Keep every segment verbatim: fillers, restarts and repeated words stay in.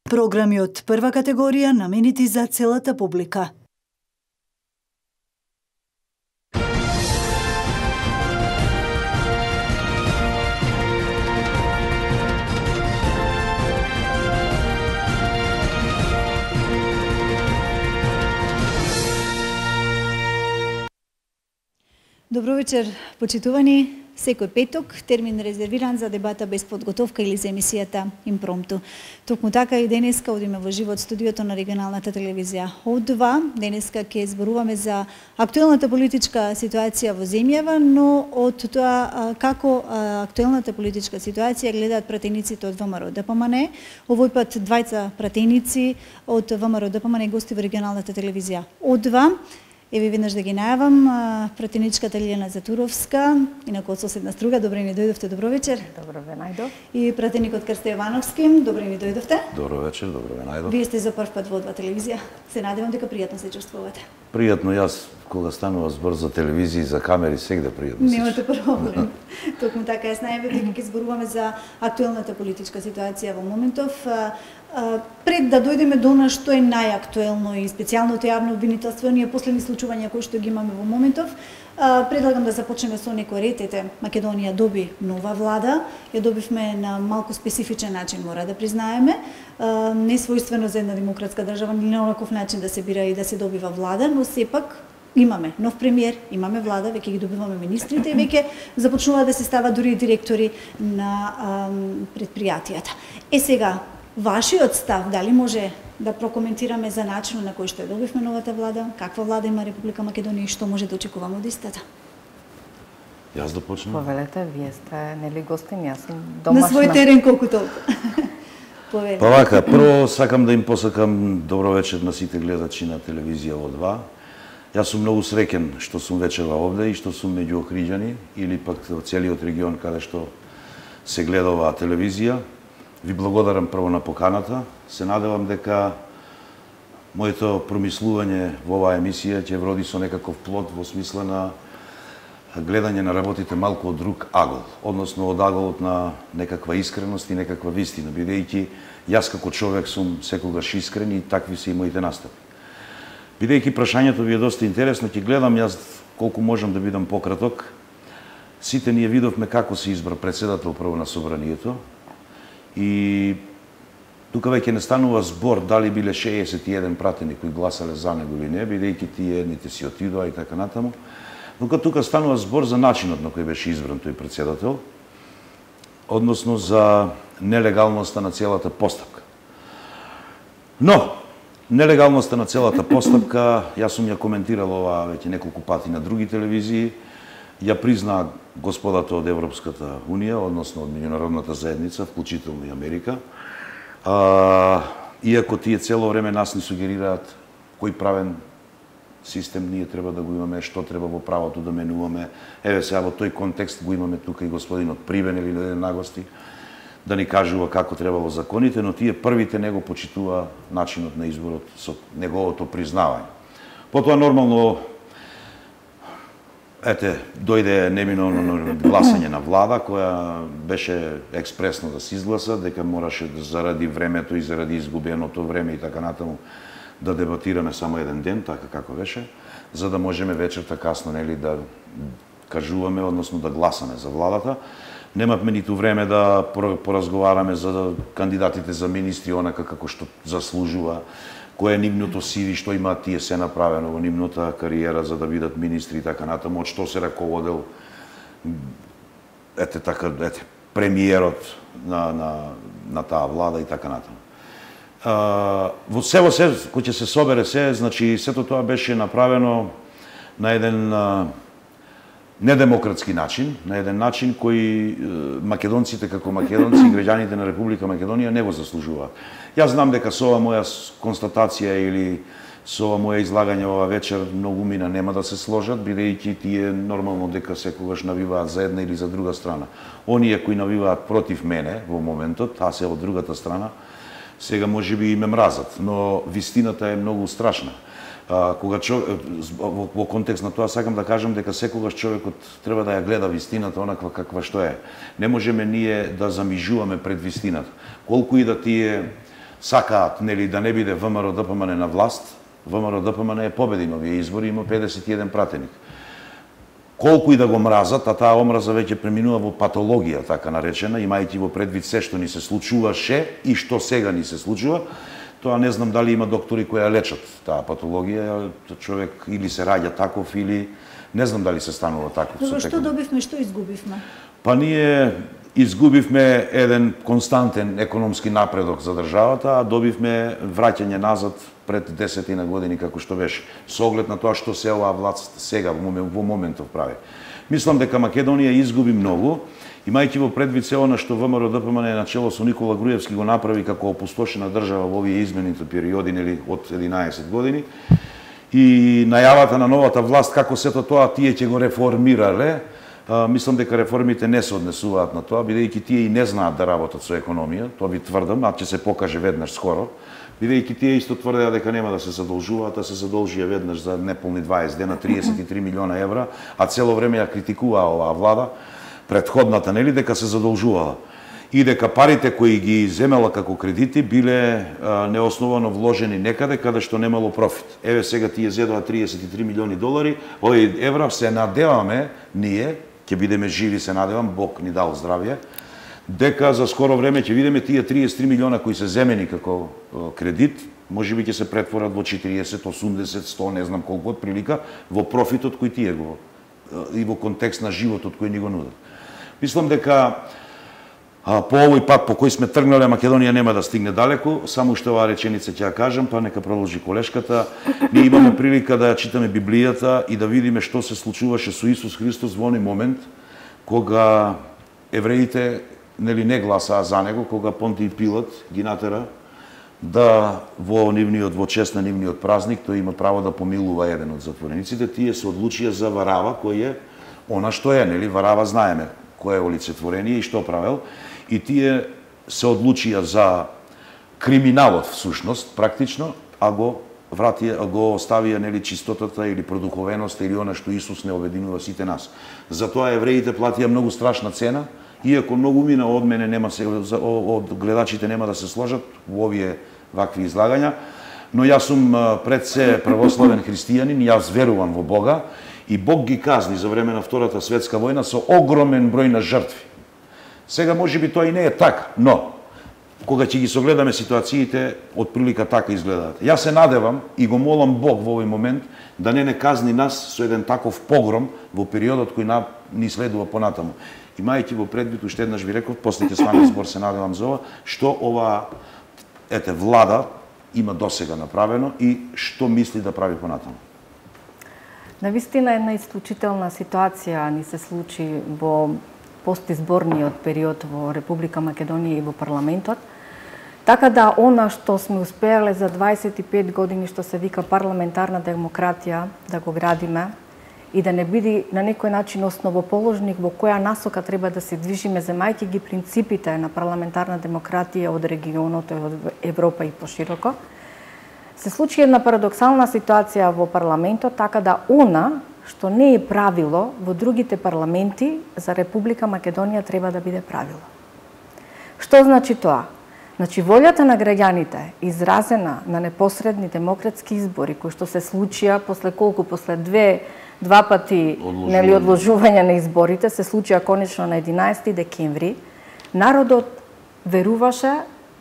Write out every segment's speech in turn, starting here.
Програми од прва категорија наменети за целата публика. Добро вечер, почитувани. Секој петок, термин резервиран за дебата без подготовка или за емисијата Импромту. Токму така и денеска одиме во живот студиото на регионалната телевизија О два. Денеска ќе зборуваме за актуелната политичка ситуација во земјава, но од тоа како актуелната политичка ситуација гледаат пратениците од ВМРО Д П М Н. Овој пат двајца пратеници од ВМРО Д П М Н гости во регионалната телевизија О два. Еве веднаш да ги најавам, пратеничката Лиljana Затуровска, инаку од соседна струга. Добро ми дојдовте, добро вечер. Добро ве најдов. И пратеникот Крсте Јовановски, добро ми дојдовте. Добро вечер, добро ве најдов. Вие сте за прв пат во О два телевизија. Се надевам дека пријатно се чувствувате. Пријатно, јас кога станува збор за телевизија и за камери, сегде пријатно. Немате проблем. Токму така, јас најавив дека ќе зборуваме за актуелната политичка ситуација во моментов. Пред да дојдеме до она што е најактуелно и специјалното јавно обвинителство, ние последни случувања кои што ги имаме во моментов, предлагам да започнеме со некој ред. Ете, Македонија доби нова влада, ја добивме на малку специфичен начин, мора да признаеме, не својствено за една демократска држава, ни на онаков начин да се бира и да се добива влада, но сепак имаме нов премиер, имаме влада, веќе ги добиваме министрите и веќе започнуваат да се стават дури директори на предпријатијата. Е сега, вашиот став, дали може да прокоментираме за начинот на кој што ја добивме новата влада, каква влада има Република Македонија и што може да очекуваме од истата? Јас да почнем? Повелете, вие сте нели гостин, јас сум домашна. На свој терен колку толку. Повелете. Па вака, прво сакам да им посакам добро вечер на сите гледачи на телевизија О два. Јас сум многу среќен што сум вечера овде и што сум меѓу Охриѓани или пак целиот регион каде што се гледа оваа телевизија. Ви благодарам прво на поканата. Се надевам дека моето промислување во оваа емисија ќе вроди со некаков плод во смисла на гледање на работите малку од друг агол, односно од аголот на некаква искреност и некаква вистина, бидејќи јас како човек сум секогаш искрен и такви се и моите настапи. Бидејќи прашањето ви е доста интересно, ќе гледам јас колку можам да бидам пократок. Сите ние видовме како се избра претседател прво на собранието. И тука веќе не станува збор дали биле шеесет и еден пратени кои гласале за него или не, бидејќи тие едните си отидоа и така натаму. Но тука станува збор за начинот на кој беше избран тој претседател, односно за нелегалноста на целата постапка. Но, нелегалноста на целата постапка, јас сум ја коментирал ова веќе неколку пати на други телевизии, ја признаа господата од Европската Унија, односно од меѓународната заедница, вклучително и Америка. А, иако тие цело време нас ни сугерираат кој правен систем ние треба да го имаме, што треба во правото да менуваме. Еве сега во тој контекст го имаме тука и господинот Прибен или да нагости да ни кажува како требало законите, но тие првите него почитува начинот на изборот со неговото признавање. Потоа нормално ете, дојде неминовно гласање на влада, која беше експресно да се изгласа, дека мораше да заради времето и заради изгубеното време и така натаму да дебатираме само еден ден, така како беше, за да можеме вечерта касно нели да кажуваме, односно да гласаме за владата. Немавме ниту време да поразговараме за кандидатите за министри, онака како што заслужува, кое е нивното сиви, што имаат тие се направено во нивната кариера за да бидат министри и така натаму, од што се раководел ете така ете премиерот на на на таа влада и така натаму. А, во се во се кој ќе се собере се, значи сето тоа беше направено на еден а, недемократски начин, на еден начин кој македонците како македонци и граѓаните на Република Македонија не го заслужуваат. Јас знам дека со ова моја констатација или со ова моја излагање ова вечер многу мина нема да се сложат, бидејќи тие нормално дека секогаш навиваат за една или за друга страна. Оние кои навиваат против мене во моментот, а се од другата страна, сега можеби и ме мразат, но вистината е многу страшна. А, кога човек, во, во контекст на тоа сакам да кажам дека секогаш човекот треба да ја гледа вистината онаква каква што е. Не можеме ние да замижуваме пред вистината. Колку и да тие сакаат нели да не биде ВМРО Д П М Н на власт, ВМРО Д П М Н е победи на овие избори, има педесет и еден пратеник. Колку и да го мразат, а таа омраза веќе преминува во патологија, така наречена, имајќи во предвид се што ни се случуваше и што сега ни се случува, тоа не знам дали има доктори кои ја лечат таа патологија, човек или се раѓа таков, или не знам дали се станува таков. Добро, што добивме, што изгубивме? Па ние изгубивме еден константен економски напредок за државата, а добивме враќање назад пред десетина години како што беше, со оглед на тоа што се оваа власт сега во моментов прави. Мислам дека Македонија изгуби многу, имајќи во предвид се она што ВМРО Д П М Н начело со Никола Груевски го направи како опустошена држава во овие измените периоди, нели, од единаесет години, и најавата на новата власт како сето тоа тие ќе го реформирале. А, мислам дека реформите не се однесуваат на тоа, бидејќи тие и не знаат да работат со економија, тоа ви тврдам, а ќе се покаже веднаш скоро, бидејќи тие исто тврдеа дека нема да се задолжуваат, а се задолжија веднаш за неполни дваесет дена триесет и три милиона евра, а цело време ја критикуваа оваа влада, претходната, нели, дека се задолжувала. И дека парите кои ги земела како кредити биле а, неосновано вложени некаде каде што немало профит. Еве сега тие зедоа триесет и три милиони долари, овие евра, се надеваме ние, ќе бидеме живи, се надевам, Бог ни дал здравје, дека за скоро време ќе видиме тие триесет и три милиона кои се земени како кредит, можеби ќе се претворат во четириесет, осумдесет, сто, не знам колку од прилика, во профитот кој тие го и во контекст на животот кој ни го нудат. Мислам дека а, по овој пат по кој сме тргнале, Македонија нема да стигне далеку, само што оваа реченица ќе ја кажам, па нека продолжи колешката. Ние имаме прилика да ја читаме Библијата и да видиме што се случуваше со Исус Христос во оној момент кога евреите нели не гласаа за него, кога Понтиј Пилат ги натера да во нивниот во чест на нивниот празник тој има право да помилува еден од затворениците. Тие се одлучија за Варава, кој е она што е, нели, Варава знаеме кој е олицетворение и што правел, и тие се одлучија за криминалот всушност, практично, а го вратија, го оставија, нели, чистотата или продуховеноста или она што Исус не обединува сите нас. Затоа евреите платија многу страшна цена, иако многу мина од мене нема се, од гледачите нема да се сложат во овие вакви излагања, но јас сум пред се православен христијанин, јас верувам во Бога и Бог ги казни за време на Втората светска војна со огромен број на жртви. Сега можеби тоа и не е така, но кога ќе ги согледаме ситуациите, од прилика така изгледаат. Јас се надевам и го молам Бог во овој момент да не не казни нас со еден таков погром во периодот кој на, ни следува понатаму. Имајќи во предвид, уште еднаш ви реков, после ќе стване збор, се надевам за ова, што ова ете влада има досега направено и што мисли да прави понатаму. Навистина една исклучителна ситуација ни се случи во постизборниот период во Република Македонија и во парламентот. Така да она што сме успеале за дваесет и пет години, што се вика парламентарна демократија, да го градиме и да не биде на некој начин основоположник во која насока треба да се движиме, земајќи ги принципите на парламентарна демократија од регионот, од Европа и пошироко, се случи една парадоксална ситуација во парламентот, така да она што не е правило во другите парламенти за Република Македонија треба да биде правило. Што значи тоа? Значи, волјата на граѓаните, изразена на непосредни демократски избори, кои што се случија после колку, после две, два пати одложување. Нели, одложување на изборите, се случија конечно на единаесети декември, народот веруваше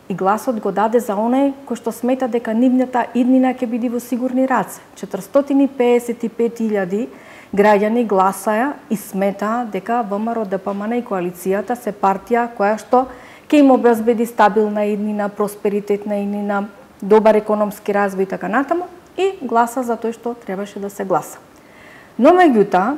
и гласот го даде за онај кој што смета дека нивната иднина ќе биде во сигурни раце. четиристотини пеесет и пет илјади граѓани гласаја и сметаа дека ВМРО Д П М Н и коалицијата се партија која што ќе им обезбеди стабилна иднина, просперитетна иднина, добар економски развој и така натаму, и гласа за тој што требаше да се гласа. Но меѓутоа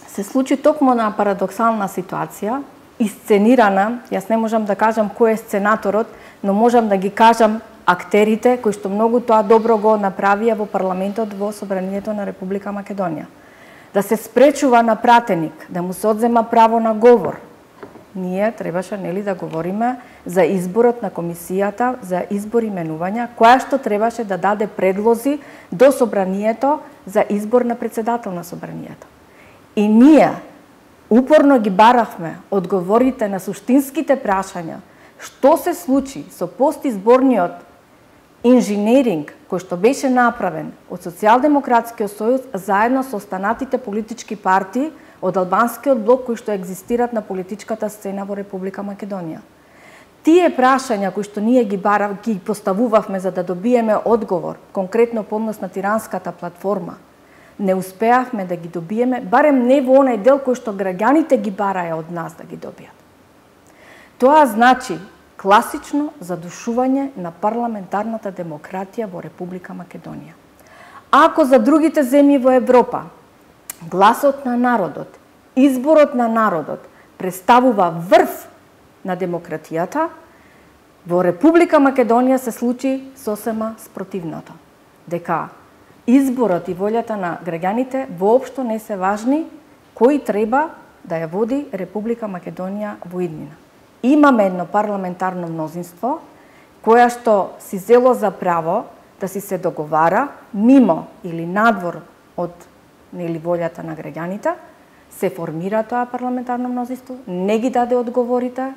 се случи токму на парадоксална ситуација, исценирана, јас не можам да кажам кој е сценаторот, но можам да ги кажам актерите кои што многу тоа добро го направија во парламентот во Собранието на Република Македонија. Да се спречува на пратеник, да му се одзема право на говор. Ние требаше, нели, да говориме за изборот на комисијата за избор именувања, која што требаше да даде предлози до Собранието за избор на председател на Собранието. И ние упорно ги баравме одговорите на суштинските прашања, што се случи со постизборниот инженеринг кој што беше направен од Социјалдемократскиот сојуз заедно со останатите политички партии од албанскиот блок кои што екзистираат на политичката сцена во Република Македонија. Тие прашања кои што ние ги барав, ги поставувавме за да добиеме одговор, конкретно по однос на тиранската платформа, не успеавме да ги добиеме, барем не во онај дел кој што граѓаните ги бараја од нас да ги добијат. Тоа значи класично задушување на парламентарната демократија во Република Македонија. Ако за другите земји во Европа гласот на народот, изборот на народот представува врв на демократијата, во Република Македонија се случи сосема спротивното. Дека изборот и волјата на граѓаните воопшто не се важни, кој треба да ја води Република Македонија во иднина. Имаме едно парламентарно мнозинство, која што си зело за право да си се договара мимо или надвор од нели волјата на граѓаните, се формира тоа парламентарно мнозинство, не ги даде одговорите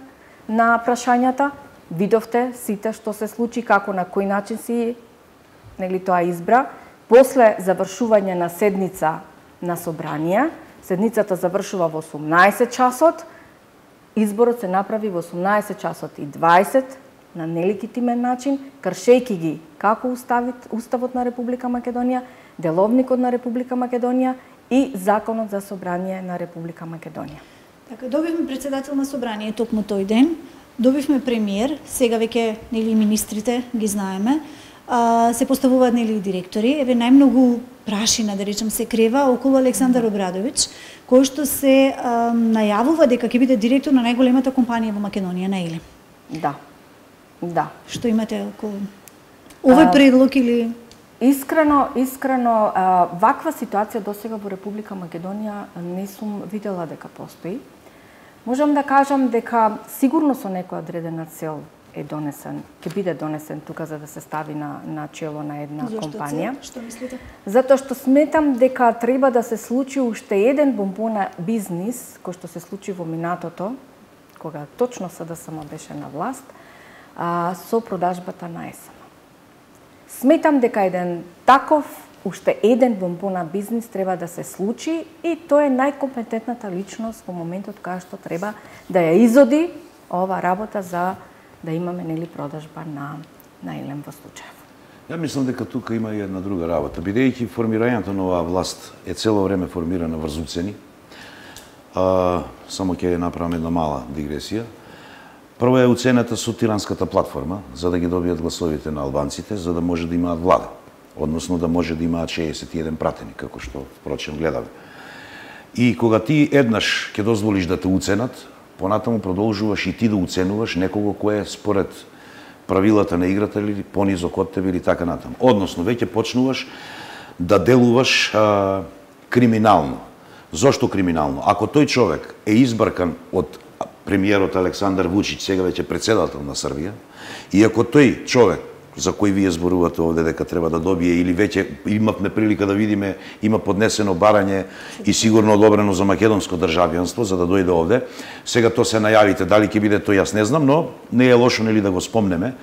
на прашањата, видовте сите што се случи, како на кој начин си нели тоа избра. После завршување на седница на собрание, седницата завршува во осумнаесет часот, изборот се направи во осумнаесет часот и дваесет на нелегитимен начин, кршејќи ги како уставот, уставот на Република Македонија, деловникот на Република Македонија и законот за собрание на Република Македонија. Така, добивме председател на собрание токму тој ден, добивме премиер, сега веќе нели министрите ги знаеме, а, се поставуваат нели директори, еве најмногу прашина, да речем, се крева околу Александар Обрадовиќ, кој што се а, најавува дека ќе биде директор на најголемата компанија во Македонија, не е ли? Да. Да. Што имате околу овој предлог или Искрено, искрено, ваква ситуација досега во Република Македонија не сум видела дека постои. Можам да кажам дека сигурно со некоја одредена цел е донесен, ќе биде донесен тука за да се стави на, на чело на една Зошто компанија. Што мислите? Затоа што сметам дека треба да се случи уште еден бомбона бизнис, кој што се случи во минатото, кога точно СДСМ беше на власт, а, со продажбата на ЕСМ. Сметам дека еден таков, уште еден бомбона бизнис треба да се случи и тоа е најкомпетентната личност во моментот кога што треба да ја изоди ова работа за да имаме нели продажба на на Елем во случајов. Ја мислам дека тука има и една друга работа. Бидејќи формирањето на оваа власт е цело време формирана врз уцени, а, само ќе ја направам една мала дигресија. Прво е уцената со тиранската платформа, за да ги добијат гласовите на албанците, за да може да имаат влада, односно да може да имаат шеесет и еден пратени, како што впрочем гледаме. И кога ти еднаш ќе дозволиш да те уценат, понатаму продолжуваш и ти да уценуваш некого кој е според правилата на играта или понизок од тебе или така натаму. Односно, веќе почнуваш да делуваш а, криминално. Зошто криминално? Ако тој човек е избркан од премиерот Александар Вучиќ, сега веќе председател на Србија, и ако тој човек за кој вие зборувате овде дека треба да добие или веќе имавме прилика да видиме, има поднесено барање и сигурно одобрено за македонско државјанство за да дојде овде. Сега тоа се најавите, дали ќе биде тоа јас не знам, но не е лошо нели да го спомнеме.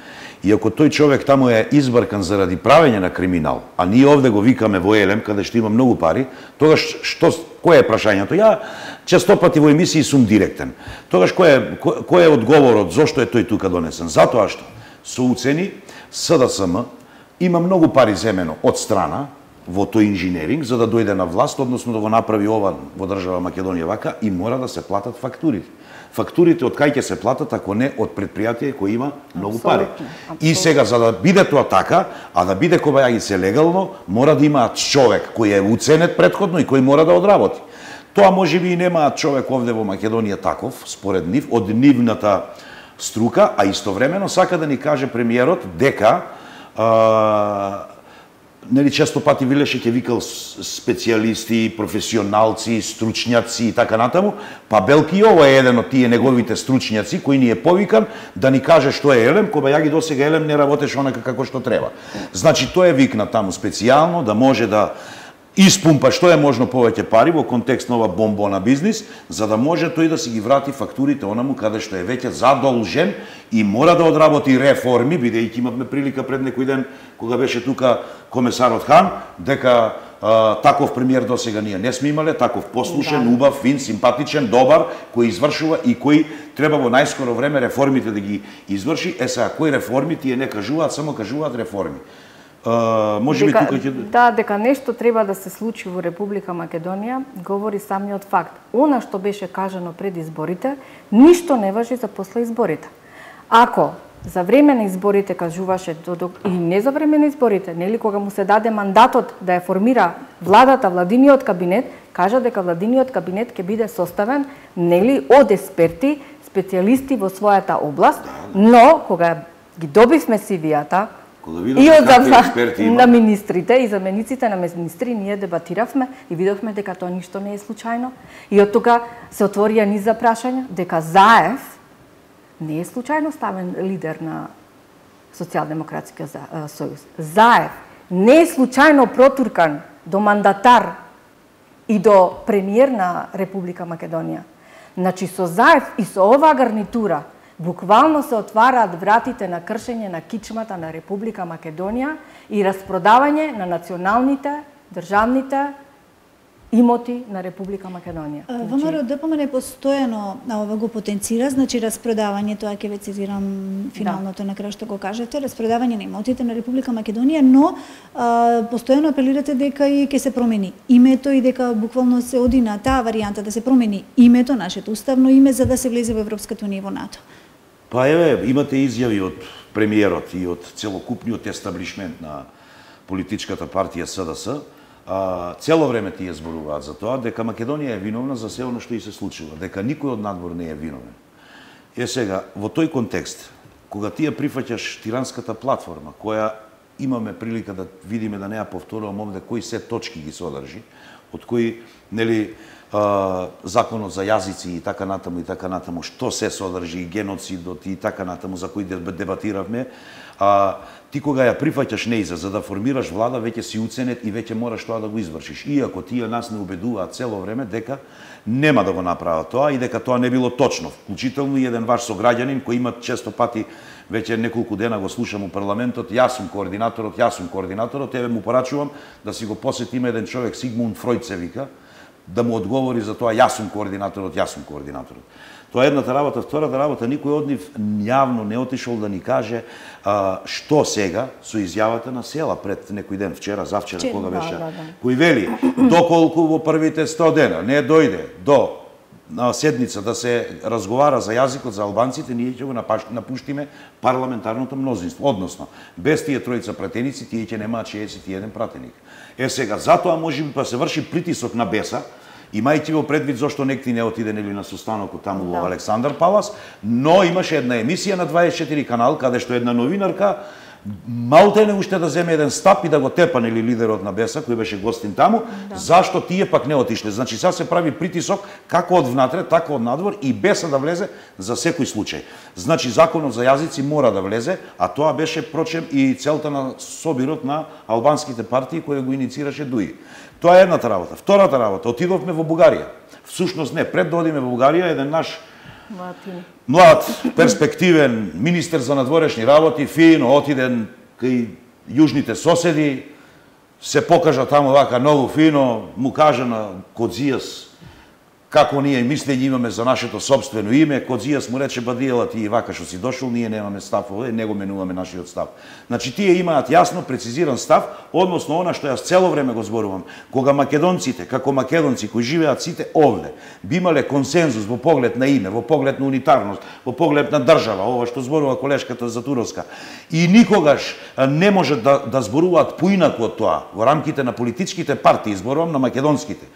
И ако тој човек таму е избркан заради правење на криминал, а ние овде го викаме во Елем, каде што има многу пари, тогаш што кој е прашањето? Ја честопати во емисии сум директен. Тогаш кој е кој, кој е одговорот зошто е тој тука донесен? Затоа што со уцени СДСМ има многу пари земено од страна во тој инженеринг за да дојде на власт, односно да го направи ова во држава Македонија вака, и мора да се платат фактурите. Фактурите од кај ќе се платат ако не од предпријатие кој има многу пари. Абсолютно. И сега за да биде тоа така, а да биде кобајагице легално, мора да имаат човек кој е уценет претходно и кој мора да одработи. Тоа можеби и немаат човек овде во Македонија таков, според нив, од нивната струка, а истовремено сака да ни каже премиерот дека а, нели често пати Вилеше ќе викал специјалисти, професионалци, стручњаци и така натаму, па белки и ова е еден од тие неговите стручњаци кој ни е повикан да ни каже што е Елем, кога ја ги досега Елем не работеше онака како што треба. Значи тоа е викна таму специјално да може да испумпа што е можно повеќе пари во контекст на ова бомбона бизнис, за да може тој да си ги врати фактурите онаму каде што е веќе задолжен и мора да одработи реформи, бидејќи имавме прилика пред некој ден кога беше тука комесарот Хан, дека а, таков премиер досега ние не сме имале, таков послушен, да. убав, фин, симпатичен, добар, кој извршува и кој треба во најскоро време реформите да ги изврши. Е сега, кои реформи тие не кажуваат, само кажуваат реформи. Uh, може би тука ќе... Да, дека нешто треба да се случи во Република Македонија, говори самиот факт. Она што беше кажано пред изборите, ништо не важи за после изборите. Ако за време на изборите кажуваше, и не за време на изборите, нели кога му се даде мандатот да ја формира владата, владиниот кабинет, кажа дека владиниот кабинет ќе биде составен нели од експерти, специјалисти во својата област, но кога ги добивме сивијата, и од на министрите и замениците на министри ние дебатиравме и видовме дека тоа ништо не е случајно. И од тога се отворија низ за прашања дека Заев не е случајно ставен лидер на Социјалдемократскиот сојуз. Заев не е случајно протуркан до мандатар и до премиер на Република Македонија. Значи со Заев и со оваа гарнитура буквално се отвараат вратите на кршење на кичмата на Република Македонија и распродавање на националните, државните имоти на Република Македонија. ВМРО ДПМН постојано ова го потенцира, значи распродавање, тоа ќе ве цитирам финалното да. на крај што го кажете, распродавање на имотите на Република Македонија, но а, постојано апелирате дека и ќе се промени името и дека буквално се оди на таа варијанта да се промени името, нашето уставно име, за да се влезе во Европската унија и во НАТО. Па еве, имате изјави од премиерот и од целокупниот естаблишмент на политичката партија СДС. А, цело време тие зборуваат за тоа дека Македонија е виновна за се оно што и се случува, дека никој од надвор не е виновен. Е сега, во тој контекст, кога тие прифаќаш тиранската платформа, која имаме прилика да видиме, да не ја повторувам овде кои се точки ги содржи, од кои, нели, законот за јазици и така натаму и така натаму, што се содржи, геноцидот и така натаму, за кои дебатиравме, а, ти кога ја прифаќаш неиза за да формираш влада, веќе си уценет и веќе мораш тоа да го извршиш. Иако тие нас не убедуваат цело време дека нема да го направат тоа и дека тоа не било точно. Вклучително и еден ваш сограѓанин кој има често пати, веќе неколку дена го слушам у парламентот, јас сум координаторот, јас сум координаторот, еве му порачувам да си го посетиме еден човек, Сигмунд Фројд се вика, да му одговори за тоа јас сум координаторот, јас сум координаторот. Тоа е едната работа, втората работа, никој од нив јавно не отишол да ни каже а, што сега со изјавата на Села пред некој ден, вчера, завчера, Че, кога беше, да, да. кој вели, доколку во првите сто дена не дојде до на седница да се разговара за јазикот за албанците, ние ќе го напуштиме парламентарното мнозинство. Односно, без тие тројца пратеници, тие ќе немаат шеесет и еден пратеник. Е сега, затоа може би па се врши притисок на Беса, имајќи во предвид зошто некти не отиде нели на состанокот таму во да. Александар Палас, но имаше една емисија на дваесет и четири канал, каде што една новинарка малте не уште да земе еден стап и да го тепа нели лидерот на Беса, кој беше гостин таму, да. Зашто тие пак не отишле. Значи, сега се прави притисок како од внатре, така од надвор и Беса да влезе за секој случај. Значи, законот за јазици мора да влезе, а тоа беше, прочем, и целта на собирот на албанските партии кој го иницираше Дуи. Тоа е едната работа. Втората работа, отидовме во Бугарија. Всушност не, пред да одиме во Бугарија, еден наш млад, перспективен министер за надворешни работи, фино отиден кај јужните соседи, се покажа таму вака многу фино, му кажа на Кодзијас како ние мислење имаме за нашето собствено име. Кодзијас му рече, бадиела, ти и вака што си дошол, ние немаме став овде, не го менуваме нашиот став. Значи, тие имаат јасно, прецизиран став, односно она што јас цело време го зборувам. Кога македонците, како македонци кои живеат сите овде, би имале консензус во поглед на име, во поглед на унитарност, во поглед на држава, ова што зборува колешката Затуровска, и никогаш не може да, да зборуваат поинаку од тоа, во рамките на политичките партии, зборувам на македонските.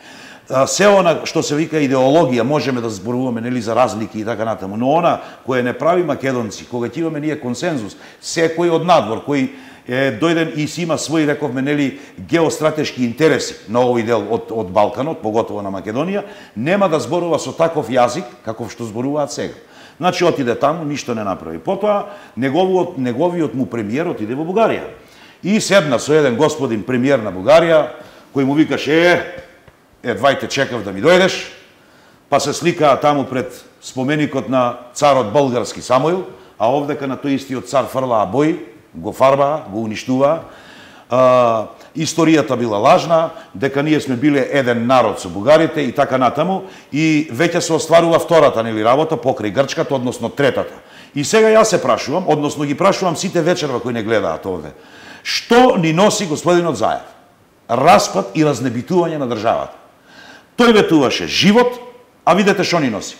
Се она што се вика идеологија можеме да зборуваме нели за разлики и така натаму, но она кое не прави македонци, кога ќе имаме ние консензус, секој од надвор кој е дојден и си има своји, рековме, нели геостратешки интереси на овој дел од од Балканот, поготово на Македонија, нема да зборува со таков јазик каков што зборуваат сега. Значи отиде таму, ништо не направи. Потоа неговиот неговиот му премиер отиде во Бугарија и седна со еден господин премиер на Бугарија, кој му викаш е, едвајте чекав да ми дојдеш, па се сликаа таму пред споменикот на царот български Самуил, а овдека на тој истиот цар фрлаа бои, го фарбаа, го уништуваа. А, историјата била лажна, дека ние сме биле еден народ со бугарите и така натаму, и веќе се остварува втората нели работа покрај Грчката, односно третата. И сега јас се прашувам, односно ги прашувам сите вечерва кои не гледаат овде, што ни носи господинот Заев? Распад и разнебитување на државата. Тој ветуваше живот, а видете што ни носи.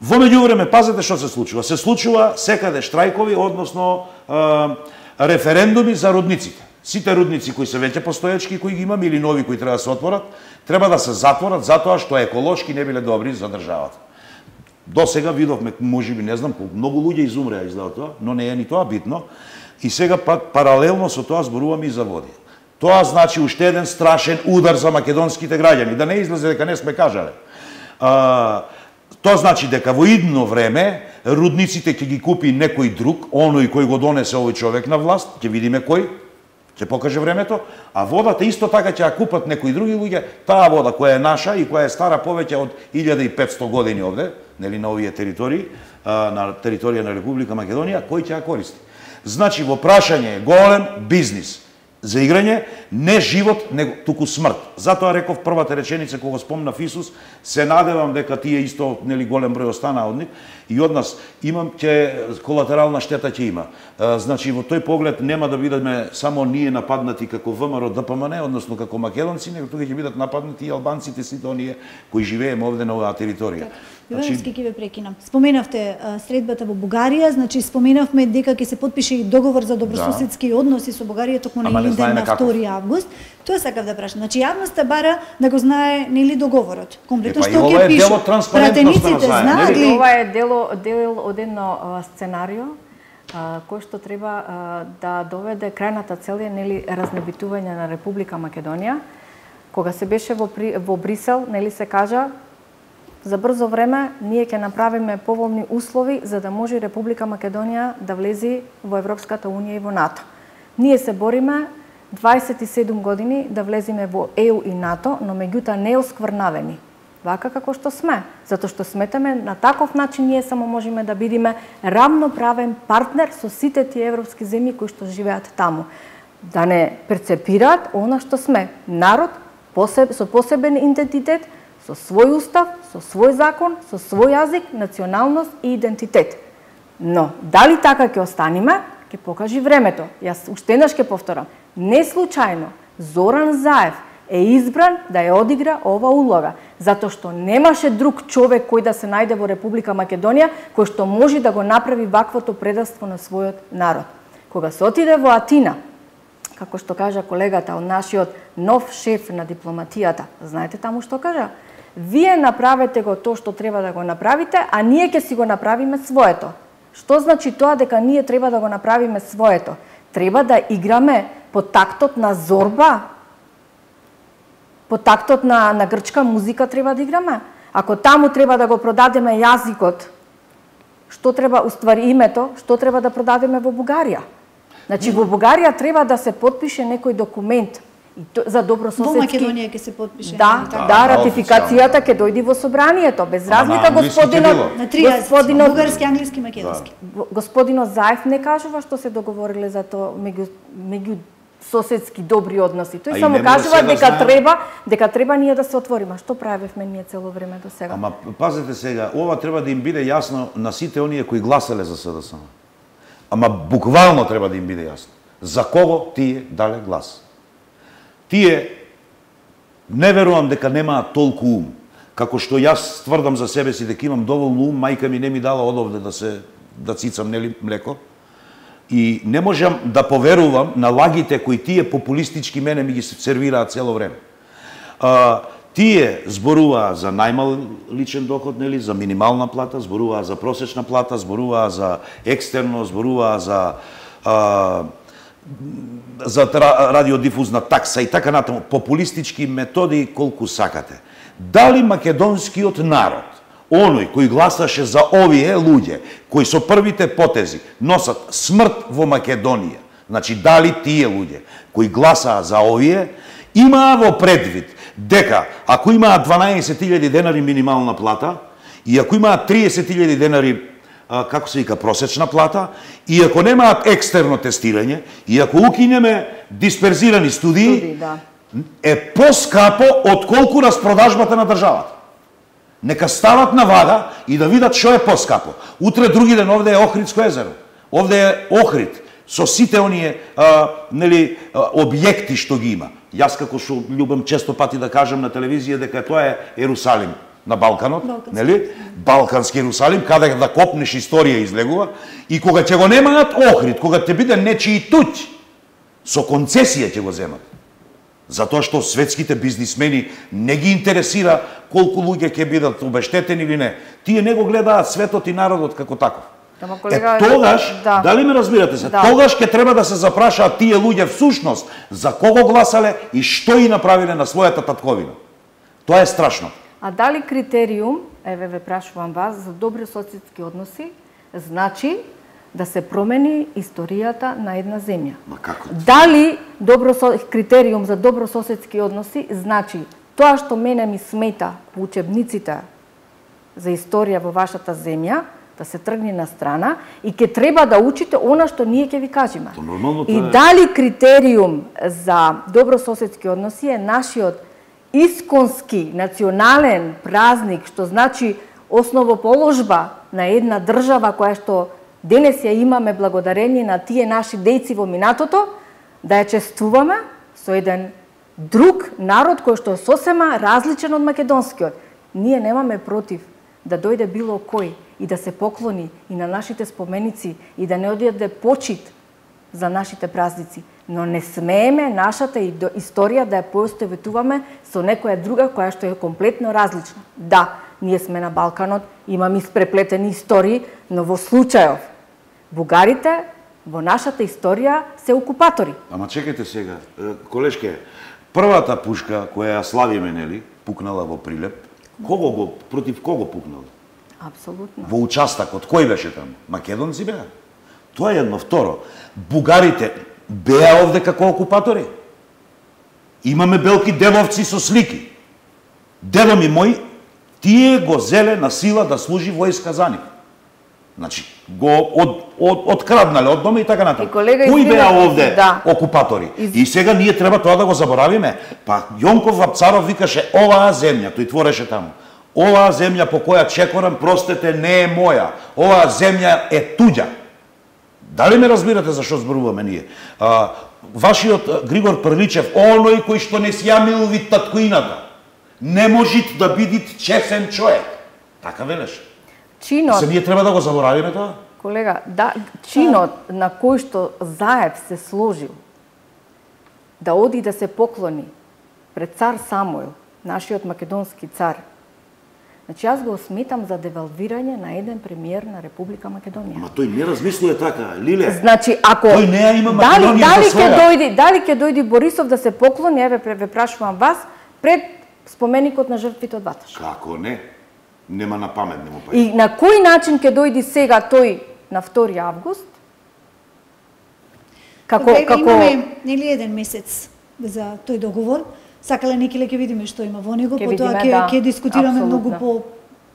Во меѓувреме, пазете што се случува. Се случува секаде штрајкови, односно е, референдуми за рудниците. Сите рудници кои се веќе постоечки, кои ги имаме, или нови кои треба да се отворат, треба да се затворат затоа што еколошки не биле добри за државата. До сега видовме, можеби не знам, многу луѓе изумреа издао тоа, но не е ни тоа битно. И сега пак паралелно со тоа зборуваме и за води. Тоа значи уште еден страшен удар за македонските граѓани, да не излезе дека не сме кажале. А, тоа значи дека во идно време рудниците ќе ги купи некој друг, оној кој го донесе овој човек на власт, ќе видиме кој, ќе покаже времето, а водата исто така ќе ја купат некои други луѓе, таа вода која е наша и која е стара повеќе од илјада и петсто години овде, нели на овие територии, на територија на Република Македонија, кој ќе ја користи. Значи во прашање е голем бизнис за играње, не живот, него туку смрт. Затоа реков првата реченица кога спомнав Исус, се надевам дека тие исто нели голем број остана од нив и од нас имам ќе колатерална штета ќе има. Значи во тој поглед нема да бидеме само ние нападнати како ВМРО ДПМН, односно како македонци, него тука ќе бидат нападнати и албанците, сите оние кои живееме овде на оваа територија. Ивановски ќе ве прекинам. Споменавте а, средбата во Бугарија, значи споменавме дека ќе се потпише и договор за добрососедски да. односи со Бугарија токму на Илинден на втори август. Тоа сакав да прашам. Значи јавноста бара да го знае нели договорот. Комплетно што ќе пише. Пратениците знаат ли? Ова е дело дел од едно сценарио а, кој што треба а, да доведе крајната цел е нели разнебитување на Република Македонија. Кога се беше во, во Брисел, нели се кажа за брзо време ние ќе направиме поволни услови за да може Република Македонија да влези во Европската унија и во НАТО. Ние се бориме дваесет и седум години да влеземе во Е У и НАТО, но меѓутоа не оскврнавени. Вака како што сме, затоа што сметаме на таков начин ние само можеме да бидеме рамноправен партнер со сите тие европски земји кои што живеат таму. Да не перцепираат она што сме, народ посеб, со посебен идентитет, со свој устав, со свој закон, со свој јазик, националност и идентитет. Но, дали така ќе останеме, ќе покажи времето. Јас уште еднаш ќе повторам. Не случајно Зоран Заев е избран да ја одигра ова улога, затоа што немаше друг човек кој да се најде во Република Македонија кој што може да го направи ваквото предавство на својот народ. Кога се отиде во Атина, како што кажа колегата од нашиот нов шеф на дипломатијата, знаете таму што кажа? Вие направете го тоа што треба да го направите, а ние ќе си го направиме своето. Што значи тоа дека ние треба да го направиме своето? Треба да играме по тактот на зорба, по тактот на, на грчка музика треба да играме. Ако таму треба да го продадеме јазикот, што треба, уствари името, што треба да продадеме во Бугарија? Значи, во Бугарија треба да се потпише некој документ за добрососедски... Во Македонија ќе се потпише. Да, да, да, ратификацијата ќе дојди во собранието, без разлика господинот... На три јазици, бугарски, англиски, македонски. Да. Господинот Заев не кажува што се договориле за тоа меѓу, меѓу соседски добри односи. Тој само кажува дека знаем... треба, дека треба ние да се отвориме. Што правевме ние цело време до сега? Ама пазете сега, ова треба да им биде јасно на сите оние кои гласале за СДСМ. Ама буквално треба да им биде јасно. За кого тие дале глас? Тие не верувам дека немаат толку ум, како што јас тврдам за себе си дека имам доволно ум, мајка ми не ми дала одовде да се да цицам нели млеко. И не можам да поверувам на лагите кои тие популистички мене ми ги сервираат цело време. А, тие зборуваа за најмал личен доход, нели, за минимална плата, зборуваа за просечна плата, зборуваа за екстерно, зборуваа за а, за радиодифузна такса и така натаму, популистички методи колку сакате. Дали македонскиот народ, оној кој гласаше за овие луѓе, кои со првите потези носат смрт во Македонија, значи дали тие луѓе кои гласаа за овие, Имаа во предвид дека ако имаат дванаесет илјади денари минимална плата и ако имаат триесет илјади денари како се вика просечна плата, и ако немаат екстерно тестирање, и ако укинеме дисперзирани студии, Студии, да. е поскапо отколку распродажбата на државата. Нека стават на вага и да видат што е поскапо. Утре други ден овде е Охридско езеро. Овде е Охрид со сите оние а, нели а, објекти што ги има. Јас како што љубам често пати да кажам на телевизија дека тоа е Ерусалим на Балканот, Балкански. нели? Балкански Ерусалим, каде да копнеш историја излегува, и кога ќе го немаат Охрид, кога ќе биде нечии туѓ, со концесија ќе го земат. Затоа што светските бизнисмени не ги интересира колку луѓе ќе бидат обештетени или не. Тие не го гледаат светот и народот како таков. Ама, колега, е, тогаш, да. дали ме разбирате се, Да. тогаш ќе треба да се запрашаат тие луѓе всушност за кого гласале и што и направиле на својата татковина. Тоа е страшно. А дали критериум, еве ве прашувам вас, за добри соседски односи, значи да се промени историјата на една земја? Ма како? Дали добро критериум за добрососедски односи значи тоа што мене ми смета во учебниците за историја во вашата земја, да се тргне на страна и ќе треба да учите она што ние ќе ви кажеме. То нормално И тоа е. дали критериум за добрососедски односи е нашиот исконски национален празник, што значи основоположба на една држава која што денес ја имаме благодарение на тие наши дејци во минатото, да ја чествуваме со еден друг народ кој што е сосема различен од македонскиот. Ние немаме против да дојде било кој и да се поклони и на нашите споменици и да не одаде почит за нашите празници, но не смееме нашата историја да ја поистоветуваме со некоја друга која што е комплетно различна. Да, ние сме на Балканот, имаме испреплетени истории, но во случајов бугарите во нашата историја се окупатори. Ама чекайте сега, е, колешке, првата пушка која ја славиме, нели, пукнала во Прилеп, кого го, против кого пукнала? Апсолутно. Во участакот, кој беше таму? Македонци беа. Тоа е едно. Второ, бугарите беа овде како окупатори. Имаме белки девовци со слики. Дедо ми мој, тие го зеле на сила да служи војска за нив. Значи, го од, од, откраднале од дома и така натаму. И колега, Кои извина- беа овде да. окупатори? Из- И сега ние треба тоа да го заборавиме. Па Јонков Вапцаров викаше оваа земја, тој твореше таму. Оваа земја по која чекорам, простете, не е моја. Оваа земја е туѓа. Дали ме разбирате за што зборуваме ние? А, вашиот а, Григор Прличев, оној кој што не си ја милови таткоината, не можит да бидит чесен човек. Така велеш. Чинот, Се ние треба да го заборавиме тоа? колега, да, чинот на кој што Заев се сложил да оди да се поклони пред цар Самуил, нашиот македонски цар. Значи, јас го сметам за девалвирање на еден премиер на Република Македонија. Ама тој не размислува така, Лиле. Значи, ако Тој не ја има дали Македонија дали за ќе своја. дојде, дали ќе дојде Борисов да се поклони, еве ве прашувам вас, пред споменикот на жртвите од Ваташ. Како не? Нема на памет, не му па. И на кој начин ќе дојде сега тој на втори август? Како Колега, како имаме нели еден месец за тој договор. Сакале некиле ќе видиме што има во него, Ќе потоа видиме, ќе да, ќе дискутираме апсолутно. многу по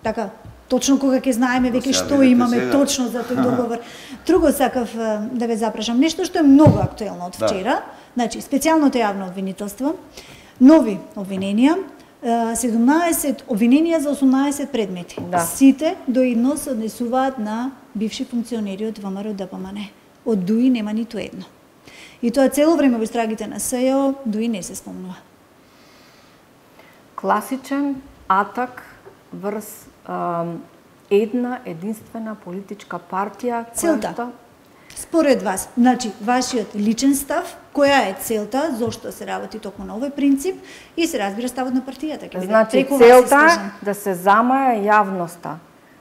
така точно кога ќе знаеме веќе сега што видите имаме сега. точно за тој договор. Друго сакав е, да ве запрашам, нешто што е многу актуелно од Да. вчера, значи специјалното јавно обвинителство, нови обвиненија, е, седумнаесет обвиненија за осумнаесет предмети. Да. Сите до едно се однесуваат на бивши функционери од ВМРО Д П М Н. Од ДУИ нема ниту едно. И тоа цело време во истрагите на С Ј О ДУИ не се спомнува. класичен атак врз ам, една единствена политичка партија која Целта. што- Според вас, значи, вашиот личен став, која е целта, зошто се работи токму на овој принцип и се разбира ставот на партијата. Ќе биде Значи, преку вас целта е искажан. да се замаја јавноста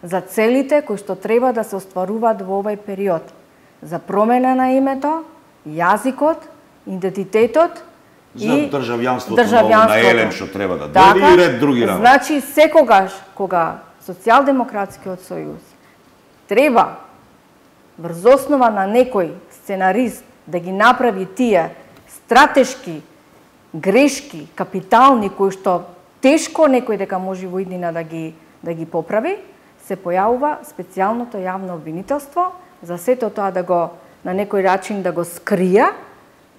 за целите кои што треба да се остваруваат во овој период. За промена на името, јазикот, идентитетот За и државјанството ново на Елем што треба да Така, дојде и ред други работи. Значи, секогаш кога Социјалдемократскиот сојуз треба врз основа на некој сценарист да ги направи тие стратешки грешки, капитални, кои што тешко некој дека може во иднина да ги, да ги поправи, се појавува специјалното јавно обвинителство за сето тоа да го на некој начин да го скрие,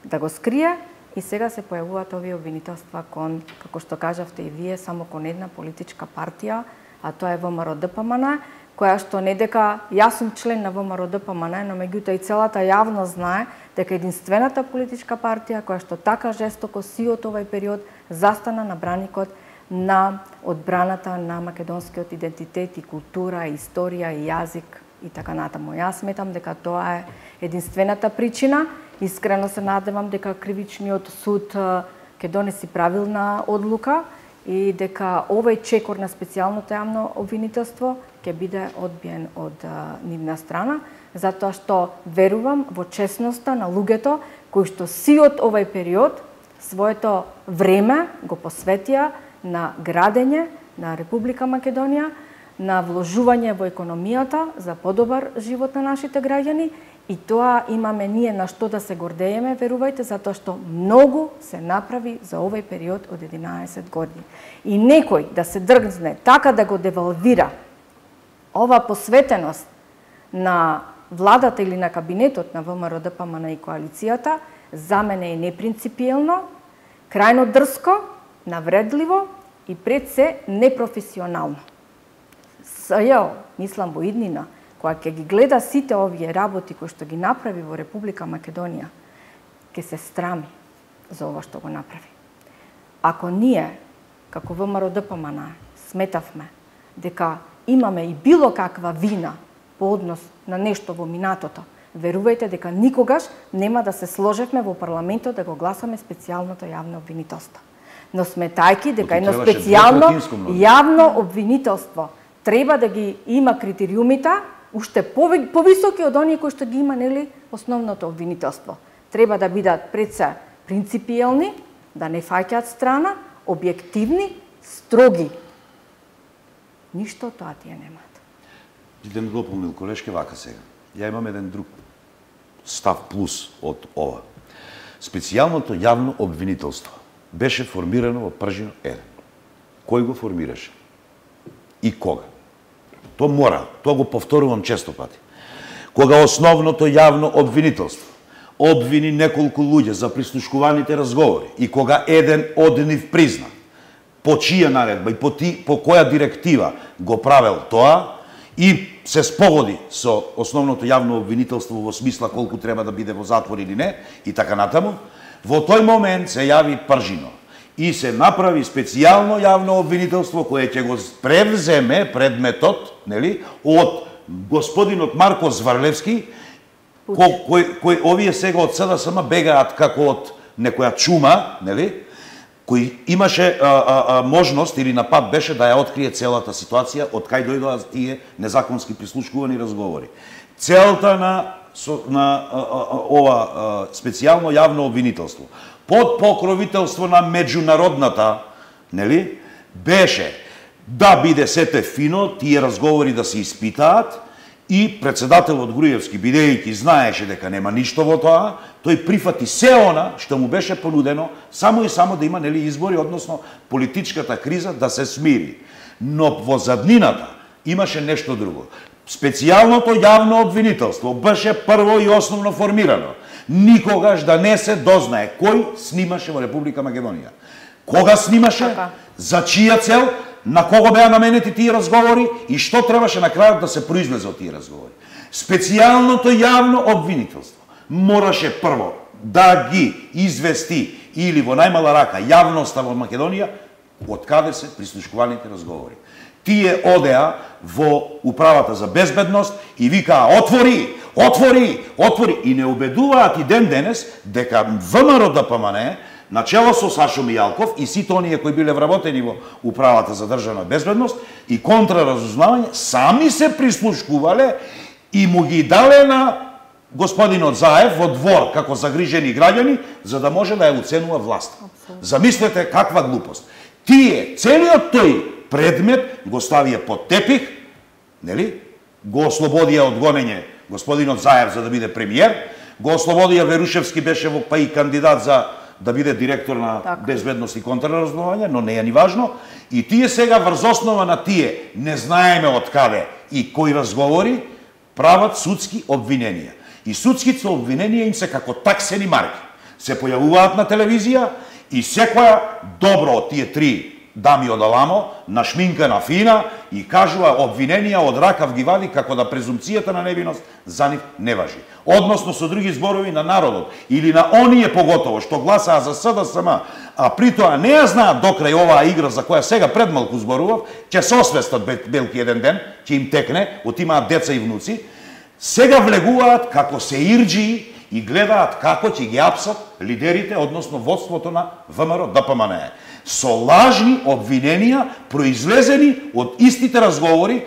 да го скрие и сега се појавуваат овие обвинителства кон, како што кажавте и вие, само кон една политичка партија, а тоа е ВМРО-ДПМН, која што не дека јас сум член на ВМРО-ДПМН, но меѓутоа и целата јавност знае дека единствената политичка партија која што така жестоко сиот овај период застана на браникот на одбраната на македонскиот идентитет и култура, и историја и јазик и така натаму. Јас сметам дека тоа е единствената причина. Искрено се надевам дека кривичниот суд ќе донеси правилна одлука и дека овој чекор на специјалното јавно обвинителство ќе биде одбиен од нивна страна, затоа што верувам во честноста на луѓето кои што сиот овај период своето време го посветија на градење на Република Македонија, на вложување во економијата за подобар живот на нашите граѓани, и тоа имаме ние на што да се гордееме, верувајте, затоа што многу се направи за овој период од единаесет години. И некој да се дргне така да го девалвира ова посветеност на владата или на кабинетот на ВМРО-ДПМН и коалицијата, за мене е непринципиелно, крајно дрско, навредливо и пред се непрофесионално. Ја мислам во иднина, кога ќе ги гледа сите овие работи кои што ги направи во Република Македонија, ќе се страми за ова што го направи. Ако ние, како ВМРО-ДПМН, сметавме дека имаме и било каква вина по однос на нешто во минатото, верувајте дека никогаш нема да се сложевме во парламентот да го гласаме специјалното јавно обвинителство. Но сметајки дека едно специјално јавно обвинителство треба да ги има критериумите уште повисоки од оние кои што ги има, нели, основното обвинителство. Треба да бидат пред се принципиелни, да не фаќаат страна, објективни, строги. Ништо тоа тие немаат. Идем дополнил колешке вака сега. Ја имам еден друг став плюс од ова. Специјалното јавно обвинителство беше формирано во Пржино еден. Кој го формираше? И кога? Тоа мора, тоа го повторувам често пати. Кога основното јавно обвинителство обвини неколку луѓе за прислушкуваните разговори и кога еден од нив призна по чија наредба и по, ти, по која директива го правел тоа и се спогоди со основното јавно обвинителство во смисла колку треба да биде во затвор или не и така натаму, во тој момент се јави Пржино и се направи специјално јавно обвинителство кое ќе го превземе предметот, нели, од господинот Марко Зварлевски, кој, кој, кој овие сега од СДСМ бегаат како од некоја чума, нели, кој имаше а, а, а, можност или на пат беше да ја открие целата ситуација од кај дојдоа тие незаконски прислушкувани разговори. Целта на со, на а, а, ова а, специјално јавно обвинителство под покровителство на меѓународната, нели, беше да биде сете фино, тие разговори да се испитаат и председателот Груевски, бидејќи знаеше дека нема ништо во тоа, тој прифати се она што му беше понудено, само и само да има, нели, избори, односно политичката криза да се смири. Но во заднината имаше нешто друго. Специјалното јавно обвинителство беше прво и основно формирано. Никогаш да не се дознае кој снимаше во Република Македонија. Кога снимаше, за чија цел, на кого беа наменети тие разговори и што требаше на крајот да се произлезе од тие разговори. Специјалното јавно обвинителство мораше прво да ги извести или во најмала рака јавноста во Македонија од каде се прислушкуваните разговори. Тие одеа во управата за безбедност и викаа отвори, отвори, отвори и не убедуваат и ден денес дека ВМРО-ДПМН начело со Сашо Мијалков и сите оние кои биле вработени во управата за државна безбедност и контраразузнавање сами се прислушкувале и му ги дале на господинот Заев во двор како загрижени граѓани за да може да ја уценува власт. Замислете каква глупост. Тие целиот тој предмет го ставија под тепих, нели? Го ослободија од гонење господинот Заев за да биде премиер, го ослободија Верушевски беше во па и кандидат за да биде директор на така. безбедност и контрразузнавање, но не е ни важно. И тие сега врз основа на тие не знаеме од каде и кои разговори прават судски обвиненија. И судските обвиненија им се како таксени марки. Се појавуваат на телевизија и секоја добро од тие три дами од Аламо, нашминкана фина и кажува обвиненија од ракав ги вади како да презумцијата на невиност за нив не важи. Односно со други зборови на народот или на оние поготово што гласаа за СДСМ, а притоа не ја знаат докрај оваа игра за која сега пред малку зборував, ќе се освестат белки еден ден, ќе им текне, отимаат деца и внуци, сега влегуваат како се ирџии и гледаат како ќе ги апсат лидерите, односно водството на ВМРО Д П М Н Е. Со лажни обвиненија произлезени од истите разговори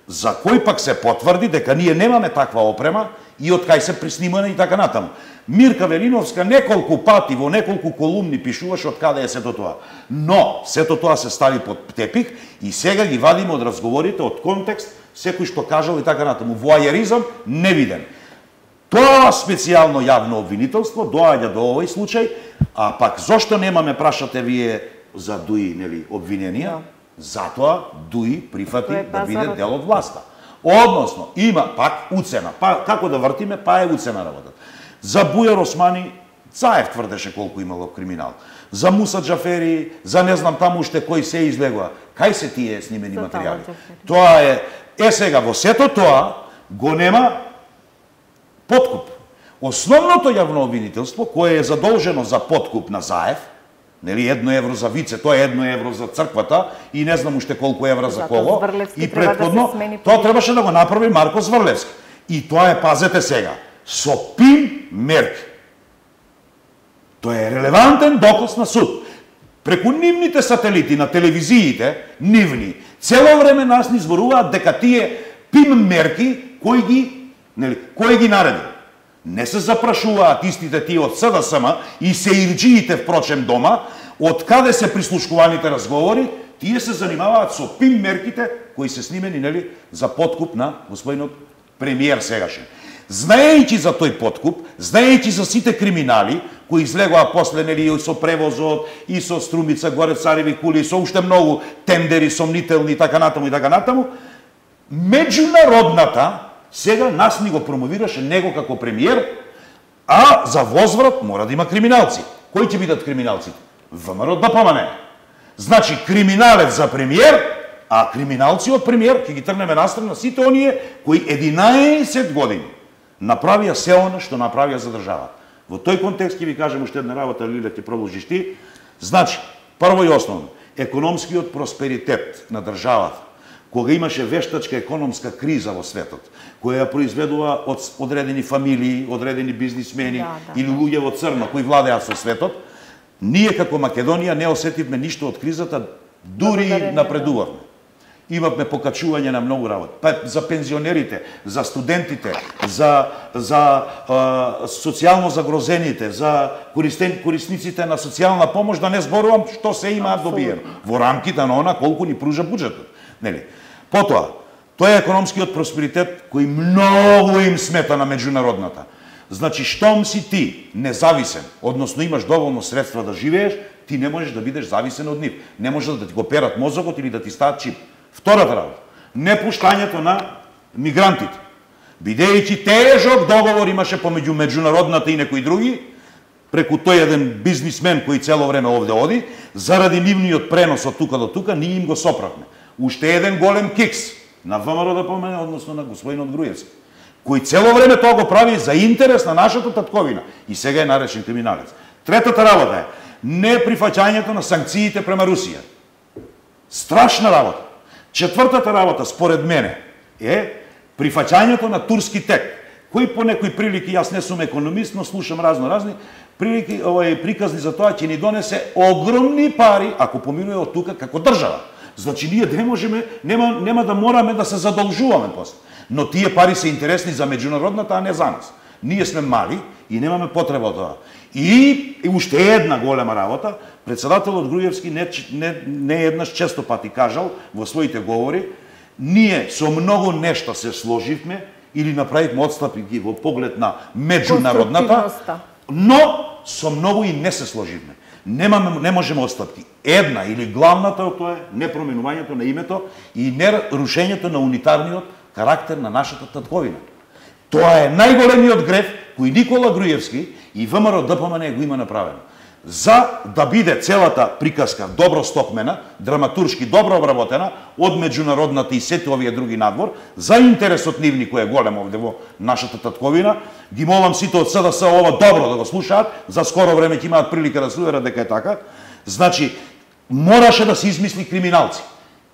за кои пак се потврди дека ние немаме таква опрема и од кај се приснимане и така натаму. Мирка Велиновска неколку пати во неколку колумни пишуваше од каде е сето тоа. Но сето тоа се стави под тепих и сега ги вадиме од разговорите, од контекст, секој што кажал и така натаму. Воајеризам невиден. Тоа специјално јавно обвинителство доаѓа до овој случај, а пак зошто немаме, прашате вие, за Дуи, нели, обвиненија? No. Затоа Дуи прифати да биде дел од власта. Односно, има пак уцена. Па, како да вртиме, па е уцена работа. За Бујар Османи, Цаев тврдеше колку имало криминал. За Муса Џафери, за не знам таму уште кои се излегува. Кај се тие снимени за материјали? Тоа е, е сега, во сето тоа го нема подкуп. Основното јавно обвинителство, кое е задолжено за подкуп на Заев, нели едно евро за вице, тоа е едно евро за црквата и не знам уште колку евра за кого. И претходно, да тоа требаше да го направи Марко Зврлевски. И тоа е, пазете сега, со пин мерки. Тоа е релевантен доказ на суд. Преку нивните сателити на телевизиите, нивни, цело време нас ни зборуваат дека тие пин мерки кои ги, нели, кои ги нареди. Не се запрашуваат истите тие од СДСМ и се ирџиите впрочем дома, од каде се прислушкуваните разговори, тие се занимаваат со пим мерките кои се снимени, нели, за подкуп на господинот премиер сегашен. Знаејќи за тој подкуп, знаејќи за сите криминали кои излегоа после, нели, и со превозот, и со Струмица, горе Цареви кули, и со уште многу тендери сомнителни и така натаму и така натаму, меѓународната сега нас ни го промовираше него како премиер, а за возврат мора да има криминалци. Кои ќе бидат криминалците? ВМРО Д П М Н Е. Значи, криминалец за премиер, а криминалци од премиер ќе ги тргнеме настрана сите оние кои единаесет години направија се она што направија за држава. Во тој контекст ќе ви кажем уште една работа, Лиле, ќе продолжиш ти. Значи, прво и основно, економскиот просперитет на државата, кога имаше вештачка економска криза во светот, која ја произведува од одредени фамилии, одредени бизнисмени да, да, или луѓе во црно кои владеат со светот, ние како Македонија не осетивме ништо од кризата, дури напредувавме. Имавме покачување на многу работи. Па за пензионерите, за студентите, за за а, социјално загрозените, за користен, корисниците на социјална помош, да не зборувам што се имаат добиено во рамките на она колку ни пружа буџетот. Нели? Потоа, тоа е економскиот просперитет кој многу им смета на меѓународната. Значи, штом си ти независен, односно имаш доволно средства да живееш, ти не можеш да бидеш зависен од нив. Не може да ти го перат мозокот или да ти стават чип. Втората работа, непуштањето на мигрантите. Бидејќи тежок договор имаше помеѓу меѓународната и некои други, преку тој еден бизнисмен кој цело време овде оди, заради нивниот пренос од тука до тука, ние им го соправме. Уште еден голем кикс на ВМРО да помене, односно на господинот Груевски, кој цело време тоа го прави за интерес на нашата татковина и сега е наречен криминалец. Третата работа е неприфаќањето на санкциите према Русија. Страшна работа. Четвртата работа, според мене, е прифаќањето на турски тек, кој по некои прилики, јас не сум економист, но слушам разно-разни, прилики, овај, приказни за тоа ќе ни донесе огромни пари, ако поминува од тука како држава. Значи, ние не можеме, нема, нема да мораме да се задолжуваме после. Но тие пари се интересни за меѓународната, а не за нас. Ние сме мали и немаме потреба од тоа. И, и уште една голема работа, председателот Груевски не, не, не еднаш често пати кажал во своите говори, ние со многу нешта се сложивме или направивме отстапи во поглед на меѓународната, но со многу и не се сложивме. Немаме, не можеме отстапки. Една или главната од тоа е непроменувањето на името и не рушењето на унитарниот карактер на нашата татковина. Тоа е најголемиот греф кој Никола Груевски и ВМРО ДПМН го има направено. За да биде целата приказка добро стокмена, драматуршки добро обработена од меѓународната и сите овие други надвор, за интересот нивни кој е голем овде во нашата татковина, ги молам сите од СДС ова добро да го слушаат, за скоро време ќе имаат прилика да слушаат дека е така. Значи, мораше да се измисли криминалци.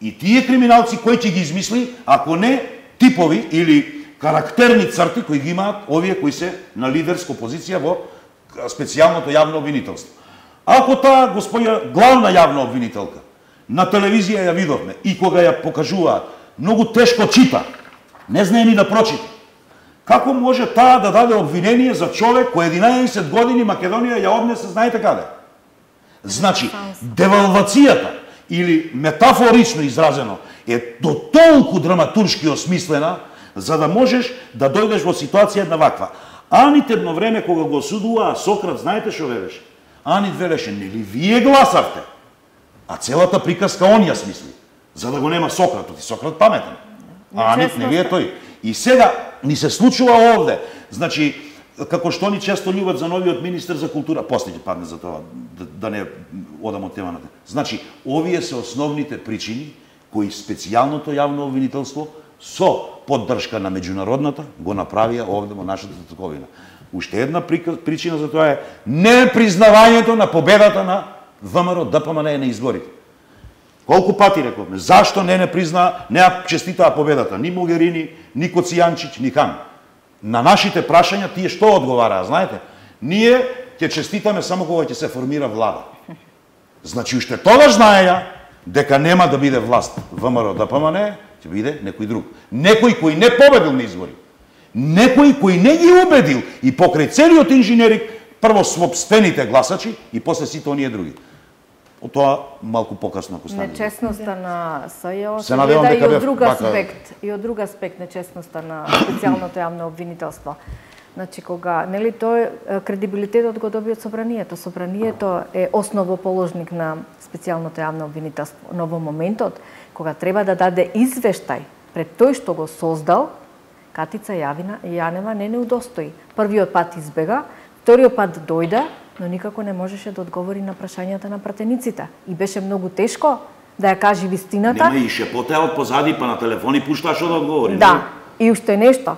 И тие криминалци кој ќе ги измисли, ако не типови или карактерни црти кои ги имаат овие кои се на лидерска позиција во специјалното јавно обвинителство. Ако таа господја главна јавна обвинителка на телевизија ја видовме и кога ја покажуваат, многу тешко чита, не знае ни да прочита. Како може таа да даде обвинение за човек кој единаесет години Македонија ја однесе знаете каде? Значи, девалвацијата или метафорично изразено е до толку драматуршки осмислена за да можеш да дојдеш во ситуација една ваква. Анит едно време кога го осудуваа Сократ, знаете што велеше? Анит велеше, нели вие гласавте? А целата приказка он ја смисли, за да го нема Сократот, и Сократ паметен. А Анит не е тој. И сега ни се случува овде. Значи, како што ни често љубат за новиот министер за култура, после ќе падне за тоа, да, да не одам од темата. Значи, овие се основните причини кои специјалното јавно обвинителство со поддршка на меѓународната го направија овде во нашата татковина. Уште една причина за тоа е непризнавањето на победата на ВМРО ДПМН на изборите. Колку пати рековме, зашто не не призна, не ја честитаа победата ни Могерини, ни Коцијанчич, ни Хан. На нашите прашања тие што одговараа, знаете? Ние ќе честитаме само кога ќе се формира влада. Значи уште тогаш знаеја дека нема да биде власт ВМРО ДПМН, ќе биде некој друг. Некој кој не победил на избори. Некој кој не ги убедил и покрај целиот инженерик, прво собствените гласачи и после сите оние други. Од тоа малку покасно ако стане. Нечестноста на СЈО се надевам дека и од друг бака... аспект, и од друг аспект нечестноста на специјалното јавно обвинителство. Значи кога, нели тој кредибилитетот го доби од собранието. Собранието е основоположник на специјалното јавно обвинителство. Но во моментот кога треба да даде извештај пред тој што го создал, Катица Јавина Јанева не не удостои. Првиот пат избега, вториот пат дојде, но никако не можеше да одговори на прашањата на пратениците. И беше многу тешко да ја кажи вистината. Нема и шепота од позади, па на телефони пушташ да одговори. Да, и уште нешто.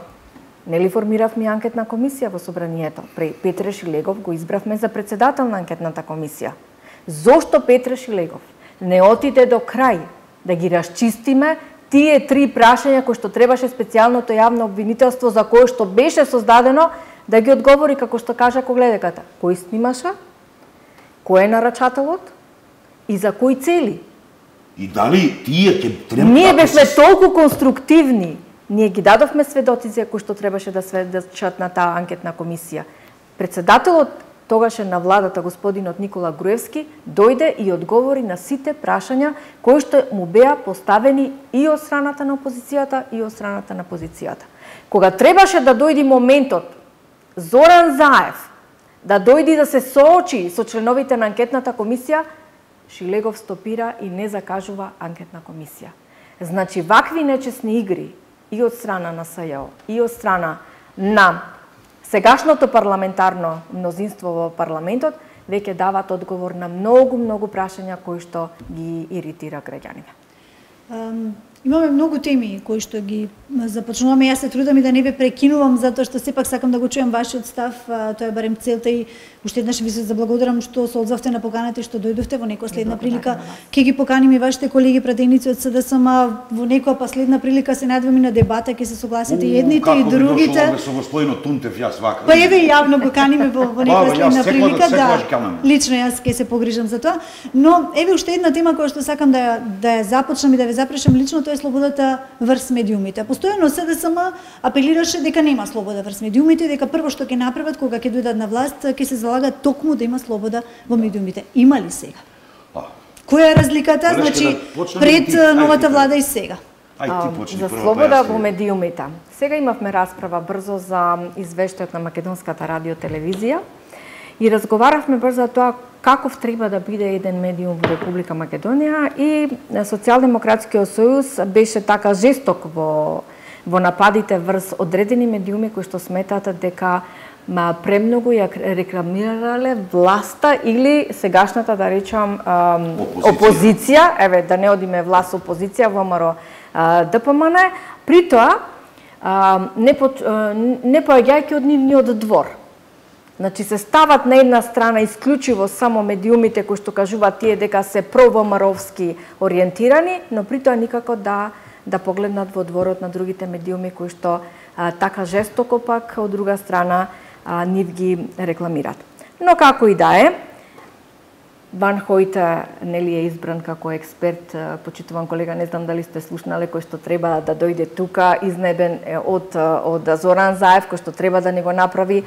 Нели формиравме анкетна комисија во собранието. Петре Шилегов го избравме за председател на анкетната комисија. Зошто Петре Шилегов не отиде до крај да ги расчистиме тие три прашања кои што требаше специјалното јавно обвинителство за кое што беше создадено да ги одговори како што кажа Когледеката. Кој снимаше? Кој е нарачателот? И за кои цели? И дали тие ќе треба... Ние бевме толку конструктивни. Ние ги дадовме сведоци кои што требаше да сведочат на таа анкетна комисија. Председателот тогаше на владата, господинот Никола Груевски, дојде и одговори на сите прашања кои што му беа поставени и од страната на опозицијата и од страната на позицијата. Кога требаше да дојди моментот Зоран Заев да дојди да се соочи со членовите на анкетната комисија, Шилегов стопира и не закажува анкетна комисија. Значи, вакви нечесни игри и од страна на СЈО, и од страна на сегашното парламентарно мнозинство во парламентот, веќе дават одговор на многу, многу прашања кои што ги иритира граѓаните. Um, имаме многу теми кои што ги започнуваме. Јас се трудам и да не ве прекинувам, затоа што сепак сакам да го чуjem вашиот став. Тоа е барем целта и уште еднаш ви се заблагодарам што се одзовте на поканата и што дојдовте во некоја следна прилика. Ќе ги поканим и вашите колеги пратеници од СДСМ во некоја последна прилика се надевам и на дебата, ќе се согласите и едните и другите. Како би дошло со господинот Тунтев јас вака. Па еве јавно го каниме во, во некоја следна прилика, да. Лично јас ќе се погрижам за тоа, но еве уште една тема која што сакам да да ја започнам и да ве запрашам лично, тоа е слободата врз медиумите. Постојано СДСМ апелираше дека нема слобода врз медиумите, дека прво што ќе направат кога ќе дојдат на власт, ќе се залагат токму да има слобода во медиумите. Има ли сега? Која е разликата, значи, пред новата влада и сега? За слобода во медиумите. Сега имавме расправа брзо за извештајот на Македонската радиотелевизија и разговаравме баш за тоа каков треба да биде еден медиум во Република Македонија и Социјалдемократскиот сојуз беше така жесток во во нападите врз одредени медиуми кои што сметаат дека ма премногу ја рекламирале власта или сегашната, да речам, опозиција, опозиција еве да не одиме власт опозиција, ВМРО ДПМН, при тоа не по, не поаѓајќи од нивниот двор. Значи се стават на една страна исклучиво само медиумите кои што кажуваат тие дека се про-ВМРО-вски ориентирани, но при тоа никако да да погледнат во дворот на другите медиуми кои што а, така жестоко пак од друга страна а, нив ги рекламираат. Но како и да е, Ван Хојте нели е избран како експерт, почитуван колега, не знам дали сте слушнале, кој што треба да дојде тука, изнебен од од Зоран Заев, кој што треба да ни го направи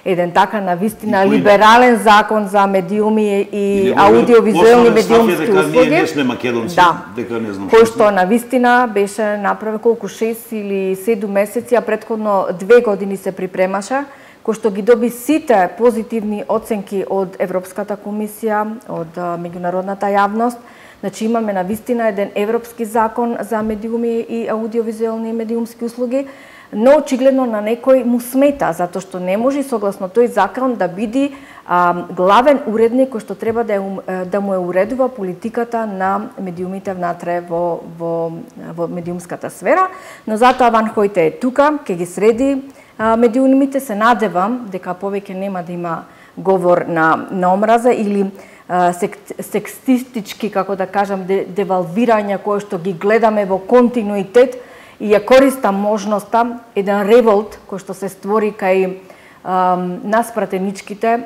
еден така навистина либерален закон за медиуми и аудиовизуелни медиумски услуги. Ние не сме македонци, да, дека не знам. Кој што навистина беше направен колку шест или седум месеци, а претходно две години се припремаше, кој што ги доби сите позитивни оценки од Европската комисија, од меѓународната јавност. Значи имаме навистина еден европски закон за медиуми и аудиовизуелни медиумски услуги, но очигледно на некој му смета, затоа што не може согласно тој закон да биде а, главен уредник кој што треба да, е, да му е уредува политиката на медиумите внатре во, во, во медиумската сфера, но затоа Ван Хојте е тука, ќе ги среди а, медиумите, се надевам дека повеќе нема да има говор на, на омраза или а, сек, секстистички, како да кажам, де, девалвирања кои што ги гледаме во континуитет, и ја користам можноста еден револт кој што се створи кај а, нас пратеничките,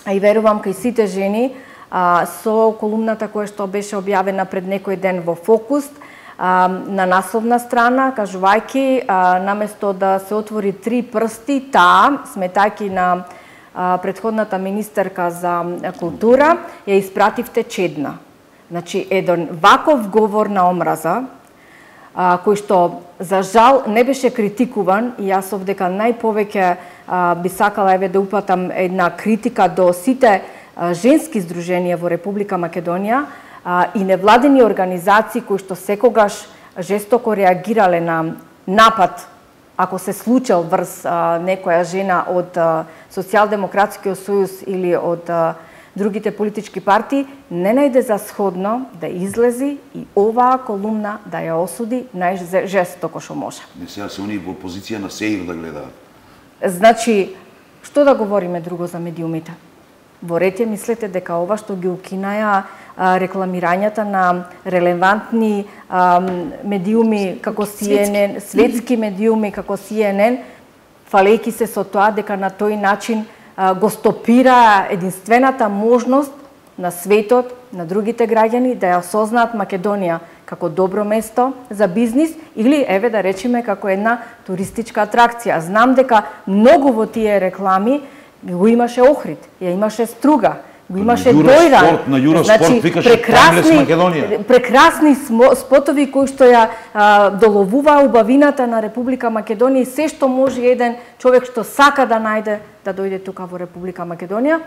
а и верувам кај сите жени, а, со колумната која што беше објавена пред некој ден во Фокус, а, на насловна страна, кажувајќи а, наместо да се отвори три прсти, таа, сметајќи на а, предходната министерка за култура, ја испративте чедна. Значи, еден ваков говор на омраза, а, кој што за жал не беше критикуван, и јас овдека најповеќе а, би сакала еве да упатам една критика до сите а, женски здруженија во Република Македонија а, и невладени организации кои што секогаш жестоко реагирале на напад ако се случил врз а, некоја жена од а, Социјалдемократскиот сојуз или од а, другите политички партии, не најде за сходно да излези и оваа колумна да ја осуди најжестоко што може. Не сега се они во позиција на сеир да гледаат. Значи, што да говориме друго за медиумите? Во ред ја мислете дека ова што ги укинаја а, рекламирањата на релевантни а, медиуми како Си Ен Ен, светски медиуми како Си Ен Ен, фалејќи се со тоа дека на тој начин го стопира единствената можност на светот, на другите граѓани да ја осознаат Македонија како добро место за бизнис или, еве да речеме, како една туристичка атракција. Знам дека многу во тие реклами го имаше Охрид, ја имаше Струга, го имаше Дојран. На Юроспорт значи, викаше Таймлес Македонија. Прекрасни спотови кои што ја а, доловува убавината на Република Македонија и се што може еден човек што сака да најде да дојде тука во Република Македонија,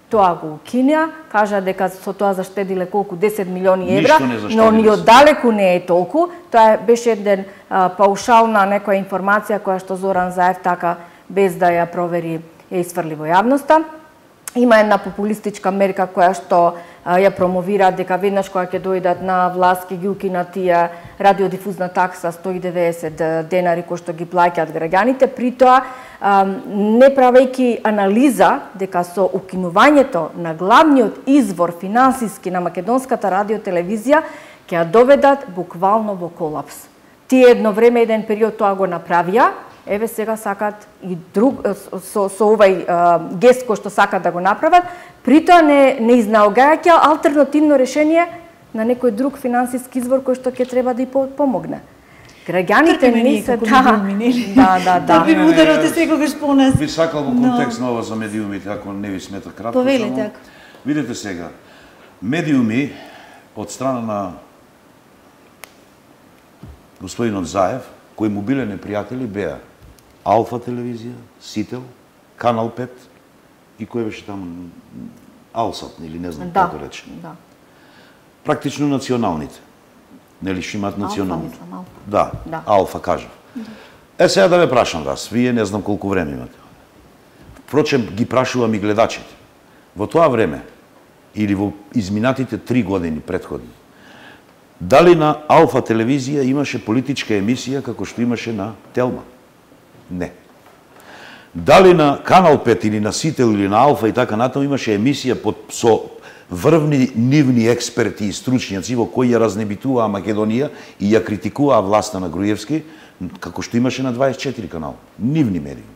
тоа го укинеа, кажа дека со тоа заштедиле колку десет милиони евра, но ни оддалеку не е толку. Тоа беше еден а, паушална некоја информација која што Зоран Заев така без да ја провери ја исфрли во јавноста. Има една популистичка мерка која што а, ја промовира дека веднаш кога ќе дојдат на власт ќе ги укинат тие радиодифузна такса сто и деветдесет денари кои што ги плаќаат граѓаните, при тоа а, не правејќи анализа дека со укинувањето на главниот извор финансиски на македонската радиотелевизија ќе ја доведат буквално во колапс. Тие едно време, еден период тоа го направија, еве сега сакат и друг со, со овај а, гест кој што сакат да го направат, при тоа не, не изнаогајаќа алтернативно решение на некој друг финансиски извор кој што ќе треба да и помогне. Граѓаните не се да, да, да, да. Ви ударот е секогаш по нас. Би сакал во контекст на ова за медиумите, ако не ви смета кратко. Повелете, ако. Видете сега, медиуми од страна на господинот Заев, кои му биле непријатели, беа Алфа телевизија, Сител, Канал пет, и кој беше таму Алсат или не знам да, како рече. Да. Практично националните. Нели што имаат национални? Алфа, мислам, алфа. Да, да, алфа кажав. Да. Е сега да ве прашам вас, вие не знам колку време имате. Впрочем, ги прашувам и гледачите. Во тоа време, или во изминатите три години предходни, дали на Алфа телевизија имаше политичка емисија како што имаше на Телма? Не. Дали на Канал пет или на Сител или на Алфа и така натаму имаше емисија под, со врвни нивни експерти и стручњаци во кои ја разнебитуваа Македонија и ја критикуваа власта на Груевски, како што имаше на дваесет и четири канал, нивни медии.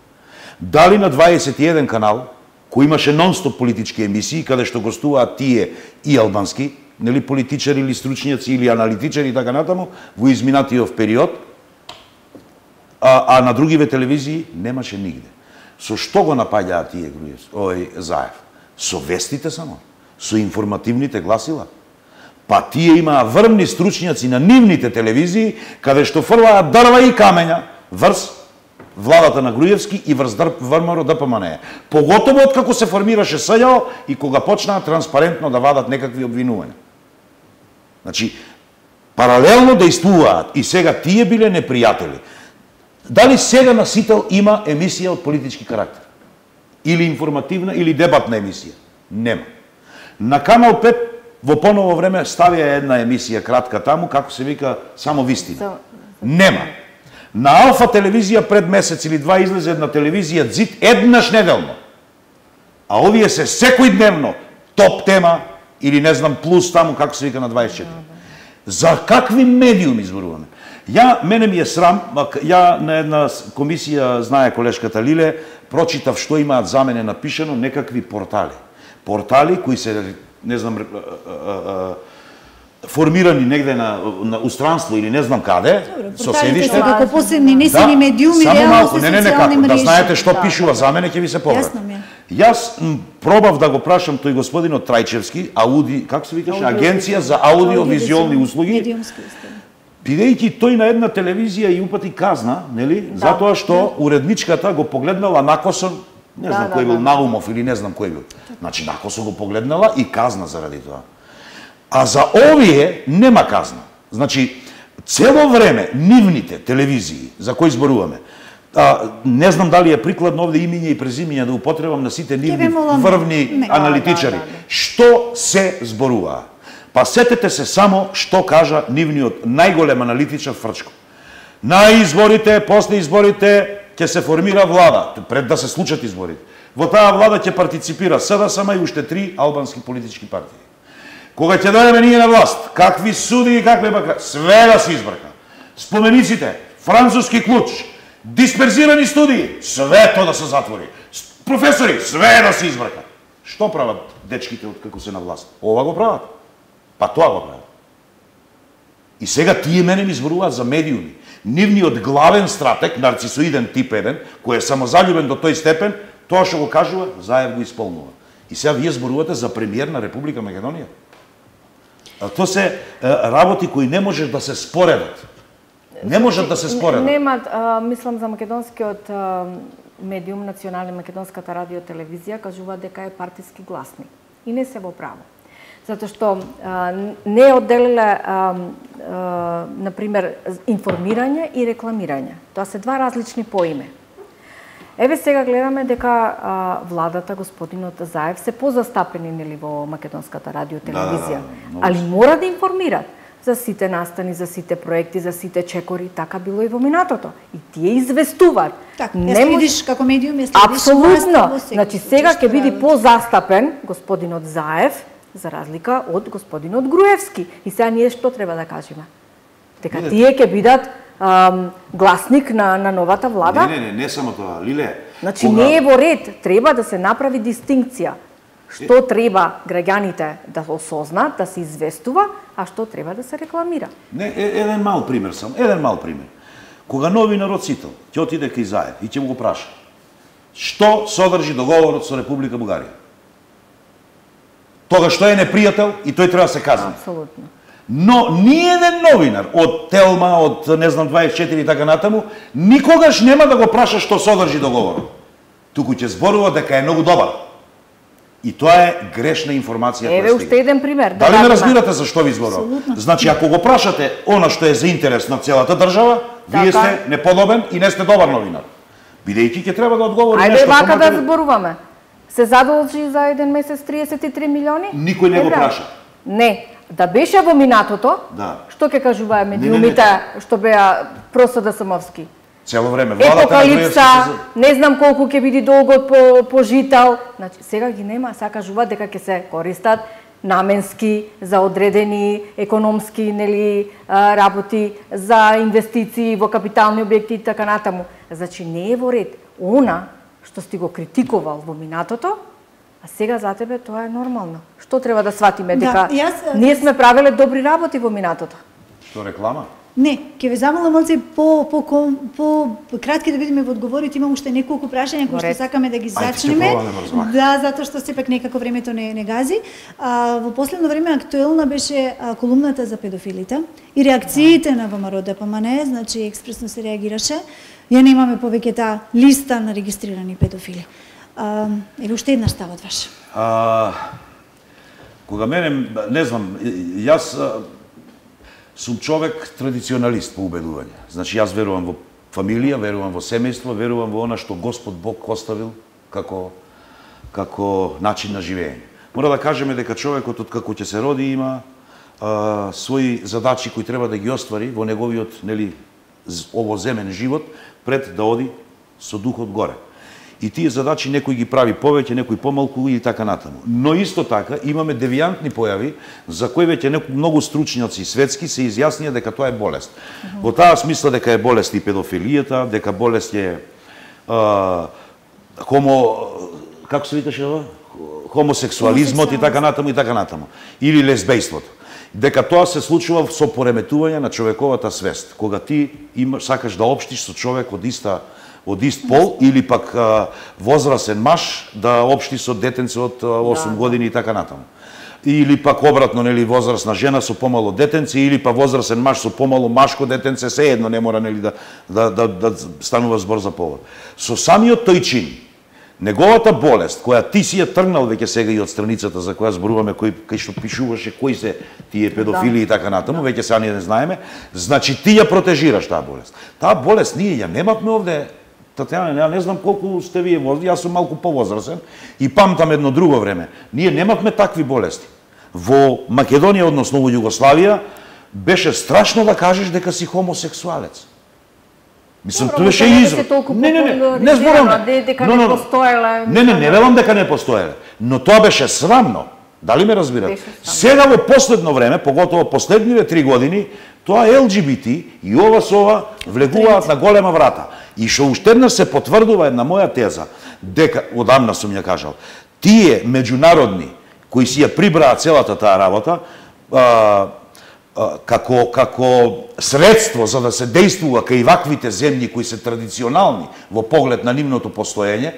Дали на дваесет и еден канал, кој имаше нон-стоп политички емисии, каде што гостуваат тие и албански, нели политичари или стручњаци или аналитичари и така натаму, во изминатиот период, а, а на другиве телевизии немаше нигде. Со што го напаѓаат тие Груевски, ој Заев? Со вестите само, со информативните гласила. Па тие имаа врвни стручњаци на нивните телевизии, каде што фрлаат дрва и камења врз владата на Груевски и врз ВРМР ДПМНЕ. Поготово откако се формираше СЈО и кога почнаа транспарентно да вадат некакви обвинувања. Значи, паралелно действуваат и сега тие биле непријатели. Дали сега на Сител има емисија од политички карактер? Или информативна, или дебатна емисија? Нема. На Канал пет во поново време ставија една емисија кратка таму, како се вика, само вистина. Нема. На Алфа телевизија пред месец или два излезе една телевизија ДЗИД еднаш неделно. А овие се секојдневно топ тема или не знам плюс таму, како се вика на дваесет и четири. За какви медиуми зборуваме? Ја, мене ми е срам, ја на една комисија, знае колешката Лиле, прочитав што имаат за мене напишено некакви портали. Портали кои се, не знам, формирани негде на, на устранство или не знам каде, со седиште. Како посебни, не се ни медиуми, само реално малку, се не, не, не, социјални како, да мрежи. знаете што Да, пишува да. за мене, ќе ви се поврат. Јасно ми е. Јас м, пробав да го прашам тој господинот Трајчевски, ауди, како се викаше, Аудио- агенција за аудиовизуелни услуги, Медиумски услуги. бидејќи тој на една телевизија и упати казна, нели, Да. затоа што уредничката го погледнала накосо, не Да, знам да, кој бил да. Наумов или не знам кој бил. Значи накосо го погледнала и казна заради тоа. А за овие нема казна. Значи цело време нивните телевизии за кои зборуваме, а, не знам дали е прикладно овде имиња и презимиња да употребам на сите нивни Ќе ве молам, врвни не. аналитичари. Да, да, да. Што се зборуваа? Па сетете се само што кажа нивниот најголем аналитичар Фрчко. На изборите, после изборите ќе се формира влада, пред да се случат изборите. Во таа влада ќе партиципира СДСМ и уште три албански политички партии. Кога ќе дојдеме ние на власт, какви суди и какви бака, све да се избрка. Спомениците, француски клуч, дисперзирани студии, све тоа да се затвори. Професори, све да се избрка. Што прават дечките од како се на власт? Ова го прават. Па тоа го прават. И сега тие мене ми зборуваат за медиуми. Нивниот главен стратег, нарцисоиден тип еден, кој е самозалюбен до тој степен, тоа што го кажува, Заев го исполнува. И сега вие зборувате за премиер на Република Македонија. А тоа се е, работи кои не можеш да се споредат. Не можат да се споредат. Немат, а, мислам за македонскиот а, медиум, национален македонската радио телевизија, кажува дека е партиски гласник. И не се во право. Затоа што а, не одделиле, а, а, например, информирање и рекламирање. Тоа се два различни поиме. Еве сега гледаме дека а, владата, господинот Заев, се позастапени нели во македонската радио телевизија, да, да, али мора да информираат за сите настани, за сите проекти, за сите чекори, така било и во минатото. И тие известуваат. Така, Не ја може- следиш како медиум, ја следиш Апсолутно. власта во секој Значи случај сега што ќе биде прават. позастапен господинот Заев за разлика од господинот Груевски. И сега ние што треба да кажеме? Дека Видете. тие ќе бидат ам, гласник на, на новата влада? Не, не, не, не само тоа, Лиле. Значи кога- не е во ред, треба да се направи дистинкција. Што треба граѓаните да осознаат, да се известува, а што треба да се рекламира. Не, е, еден мал пример сам, еден мал пример. Кога новинар од Сител ќе отиде кај Заев и ќе му го праша што содржи договорот со Република Бугарија. Тога што е непријател и тој треба да се казни. Апсолутно. Но ни еден новинар од Телма, од не знам дваесет и четири и така натаму, никогаш нема да го праша што содржи договорот. Туку ќе зборува дека е многу добар. И тоа е грешна информација која Еве уште еден пример. Дали ме разбирате за што ви зборувам? Значи, ако го прашате она што е за интерес на целата држава, вие сте неподобен и не сте добар новинар. Бидејќи ќе треба да одговори Ајде нешто. Ајде вака да зборуваме. Се задолжи за еден месец триесет и три милиони? Никој не го праша. Не, да беше во минатото, да. Што ќе кажуваа медиумите што беа просто да самовски? Цело време владата Епокалипса, не знам колку ќе биде долгот по пожитал. Значи сега ги нема, сега кажуваат дека ќе се користат наменски за одредени економски нели работи, за инвестиции во капитални објекти и така натаму. Значи не е во ред. Она што си го критикувал во минатото, а сега за тебе тоа е нормално. Што треба да сватиме дека да, јас... ние сме правеле добри работи во минатото? Што реклама? Не, ќе ве замолам малце по по по, по кратки да бидеме во одговорите, имам уште неколку прашања кои што сакаме да ги зачнеме. Да, затоа што сепак некако времето не не гази. А, во последно време актуелна беше а, колумната за педофилите и реакциите на ВМРО Д П М Н, значи експресно се реагираше. Ја немаме повеќе таа листа на регистрирани педофили. А, еве уште една ставот ваш. А, кога мене, не знам, јас сум човек традиционалист по убедување. Значи, јас верувам во фамилија, верувам во семејство, верувам во она што Господ Бог оставил како, како начин на живење. Мора да кажеме дека човекот од како ќе се роди има а, своји задачи кои треба да ги оствари во неговиот, нели, овоземен живот, пред да оди со духот горе. И тие задачи некој ги прави повеќе, некој помалку и така натаму. Но исто така имаме девијантни појави за кои веќе многу стручњаци светски се изјаснија дека тоа е болест. Uh -huh. Во таа смисла дека е болест и педофилијата, дека болест е а, хомо како се викаше ова? Хомосексуализмот и така натаму и така натаму. Или лесбејството. Дека тоа се случува со пореметување на човековата свест, кога ти имаш сакаш да општиш со човек од иста од ист пол или пак а, возрасен маж да општи со детенце од осум да, години и така натаму. Или пак обратно, нели, возрасна жена со помало детенце или па возрасен маж со помало машко детенце, се едно не мора, нели, да, да, да, да станува збор за повод. Со самиот тој чин, неговата болест, која ти си ја тргнал веќе сега и од страницата за која зборуваме, кој кај што пишуваше кои се тие педофили да. И така натаму, веќе сега ние не знаеме, значи ти ја протежираш таа болест. Таа болест ние ја немавме овде. Татјана, ја не знам колку сте вие возраст, јас сум малку повозрасен и памтам едно друго време. Ние немавме такви болести. Во Македонија, односно во Југославија, беше страшно да кажеш дека си хомосексуалец. Мислам, тоа беше израз. Не, не, не, не зборувам дека не постоеле. Не, не, не велам дека не постоеле, но тоа беше срамно. Дали ме разбирате? Сега во последно време, поготово последниве три години, тоа Л Г Б Т и ова со ова влегуваат на голема врата. И што уште еднаш се потврдува една моја теза, дека, одамна сум ја кажал, тие меѓународни, кои си ја прибраа целата таа работа, а, а, како, како средство за да се действува кај ваквите земји кои се традиционални во поглед на нивното постоење,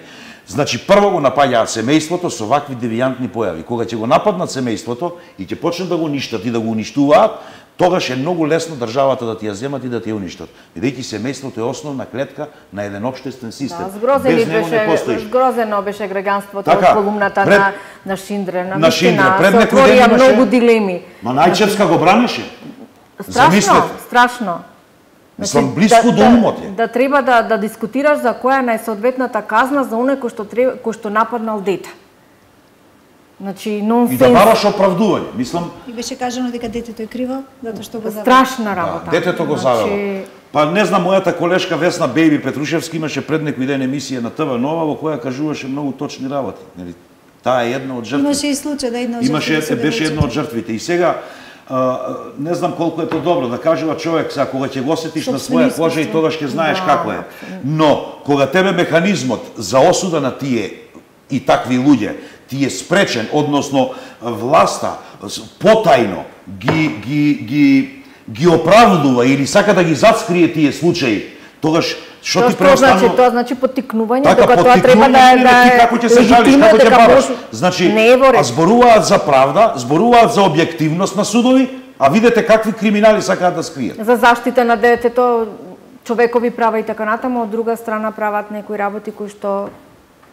значи прво го напаѓаат семејството со вакви девијантни појави. Кога ќе го нападнат семејството и ќе почнат да го ништат и да го уништуваат, тогаш е многу лесно државата да ти ја земат и да ти ја уништат. Бидејќи семејството е основна клетка на еден општествен систем. Да, згрозени беше, згрозено беше граѓанството така, од колумната пред, на, на Шиндре. На, на Шиндре, пред некој ден имаше многу дилеми. Ма Најчевска го бранеше. Страшно, Замислете. страшно. Мислам, близко да, до умот е. Да, да треба да, да дискутираш за која е најсоодветната казна за оној кој што, треба, кој што нападнал дете. Значи, нонсенс. И да бараш оправдување, мислам. И беше кажано дека детето е криво, затоа што го завела. Страшна работа. Да, детето го завела. Значи... Па не знам, мојата колешка Весна Бејби Петрушевски имаше пред некој ден емисија на Т В Нова во која кажуваше многу точни работи. Нели, таа е една од жртвите. Имаше и случај да една од жртвите. Имаше, беше една од жртвите. И сега Uh, не знам колку е тоа добро да кажува човек, сега кога ќе го осетиш на своја кожа и тогаш ќе знаеш да, како е. Но кога тебе механизмот за осуда на тие и такви луѓе ти е спречен, односно власта потајно ги ги ги ги оправдува или сака да ги зацкрие тие случаи, тогаш што ти преостанува? Значи, тоа значи поттикнување, така, дека тоа треба да да ти како ќе се жалиш, како ќе бараш. Значи, а зборуваат за правда, зборуваат за објективност на судови, а видете какви криминали сакаат да скријат. За заштита на детето, човекови права и така натаму, од друга страна прават некои работи кои што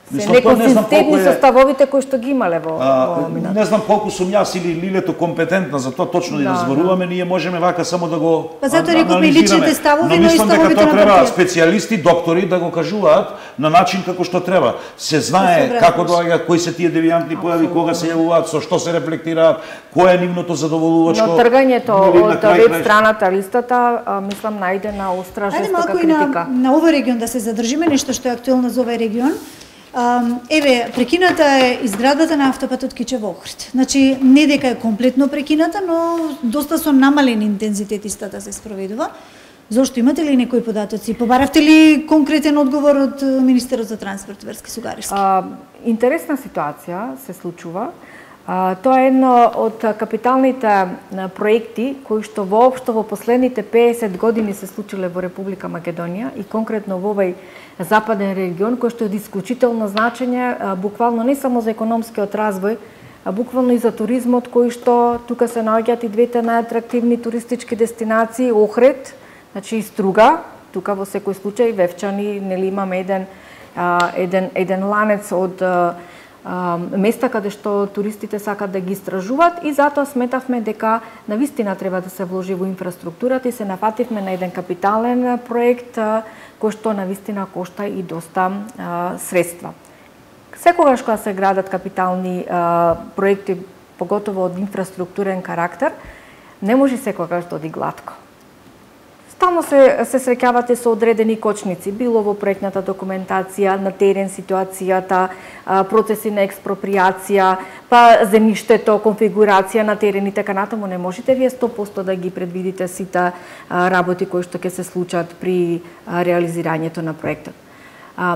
се неконсистентни со ставовите кои што ги имале во, во минато. Не знам колку сум јас или Лилето компетентна за тоа точно да, да зборуваме, да. Ние можеме вака само да го па затоа рековме личните ставови, но и ставовите на треба специјалисти, доктори да го кажуваат на начин како што треба. Се знае да како доаѓа, кои се тие девијантни појави, кога се јавуваат, со што се рефлектираат, кој е нивното задоволувачко. Но тргањето од веб страната листата, мислам најде на остра жестока критика. На, на овој регион да се задржиме, нешто што е актуелно за овој регион. Еве, прекината е изградата на автопатот Кичево-Охрид. Значи, не дека е комплетно прекината, но доста со намален интензитет истата се спроведува. Зошто, имате ли некои податоци? Побаравте ли конкретен одговор од Министерот за транспорт Верски Сугариски? А, интересна ситуација се случува. А, тоа е едно од капиталните проекти кои што воопшто во последните песет години се случиле во Република Македонија и конкретно во овој западен регион, кој што е од исклучително значење, буквално не само за економскиот развој, а буквално и за туризмот, кој што тука се наоѓаат и двете најатрактивни туристички дестинации, Охрид, значи и Струга, тука во секој случај Вевчани, нели имаме еден еден еден ланец од места каде што туристите сакат да ги истражуваат и затоа сметавме дека навистина треба да се вложи во инфраструктурата и се нафативме на еден капитален проект кој што навистина кошта и доста а, средства. Секогаш кога се градат капитални а, проекти, поготово од инфраструктурен карактер, не може секогаш да оди глатко. Стално се, се среќавате со одредени кочници, било во проектната документација, на терен ситуацијата, процеси на експроприација, па земјиштето, конфигурација на терен и така натаму. Не можете вие сто проценти да ги предвидите сите работи кои што ќе се случат при реализирањето на проектот.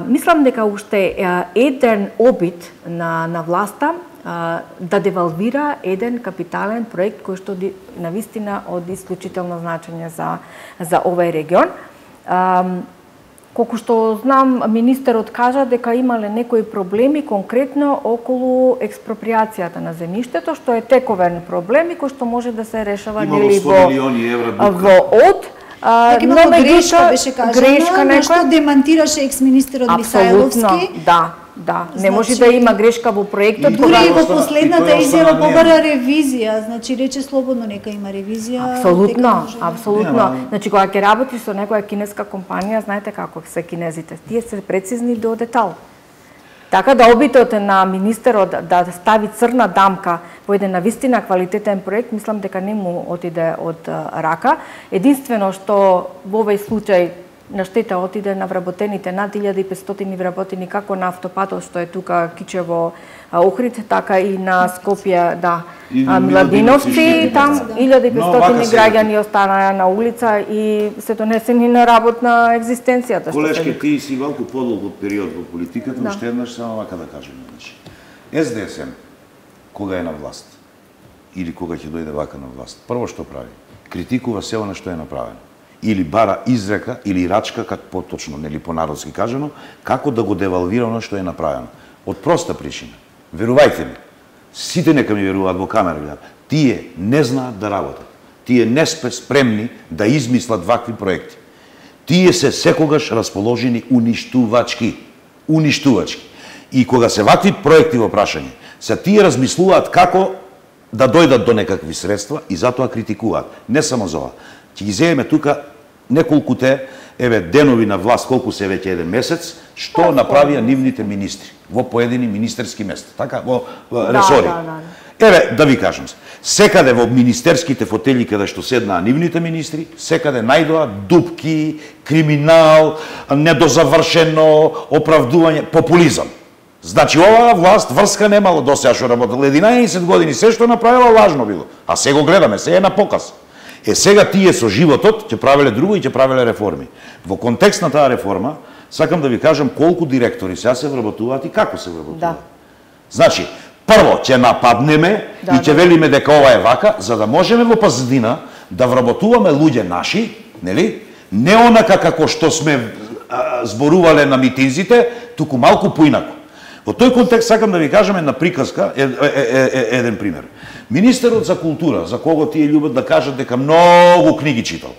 Мислам дека уште еден обид на, на власта да девалвира еден капитален проект кој што навистина од исклучително значење за за овој регион. А, колку што знам, министерот кажа дека имале некои проблеми конкретно околу експроприацијата на земјиштето, што е тековен проблем и кој што може да се решава нели во во од Дека имало грешка, беше кажано, грешка некоја што демантираше екс-министерот Мисајловски. Да, да, значи, не може да има грешка во проектот. Дури и во последната изјава побара ревизија, значи рече слободно нека има ревизија. Апсолутно, апсолутно. Значи кога ќе работиш со некоја кинеска компанија, знаете како се кинезите, тие се прецизни до детал. Така да обитот на министерот да стави црна дамка во еден навистина квалитетен проект, мислам дека не му отиде од рака. Единствено што во овој случај на штета отиде на вработените над илјада и петстотини вработени како на автопатот што е тука Кичево Охрид, така и на Скопје, да, Младиновци, там илјада и петстотини граѓани останаа на улица и се донесени на работна екзистенцијата. Колешке, ти си малку подолго период во политиката, да. Уште еднаш само вака да кажем. Ес Де Ес Ем, кога е на власт, или кога ќе дојде вака на власт, прво што прави? Критикува се она што е направено. Или бара изрека, или рачка, како поточно, нели понародски кажано, како да го девалвира оно што е направено. Од проста причина. Верувајте ми, сите нека ми веруваат во камера гледат, тие не знаат да работат. Тие не сме спремни да измислат вакви проекти. Тие се секогаш расположени уништувачки. Уништувачки. И кога се вакви проекти во прашање, се тие размислуваат како да дојдат до некакви средства и затоа критикуваат. Не само за ова. Ќе ги земеме тука неколкуте еве денови на власт, колку се веќе еден месец, што направија нивните министри во поедини министерски места, така, во ресори. Да, да, да. Еве, да ви кажам, секаде во министерските фотели каде што седнаа нивните министри, секаде најдоа дупки, криминал, недозавршено оправдување, популизам. Значи, оваа власт врска немало до сега што работела единаесет години, се што направила лажно било, а се го гледаме, се е на показ. Е, сега тие со животот ќе правеле друго и ќе правеле реформи. Во контекст на таа реформа, сакам да ви кажам колку директори сега се вработуваат и како се вработуваат. Да. Значи, прво ќе нападнеме да, и ќе да. велиме дека ова е вака, за да можеме во пазадина да вработуваме луѓе наши, нели? Не онака како што сме а, зборувале на митинзите, туку малку поинако. Во тој контекст сакам да ви кажам една приказка, е, е, е, е, еден пример. Министерот за култура, за кого тие љубат да кажат дека многу книги читал.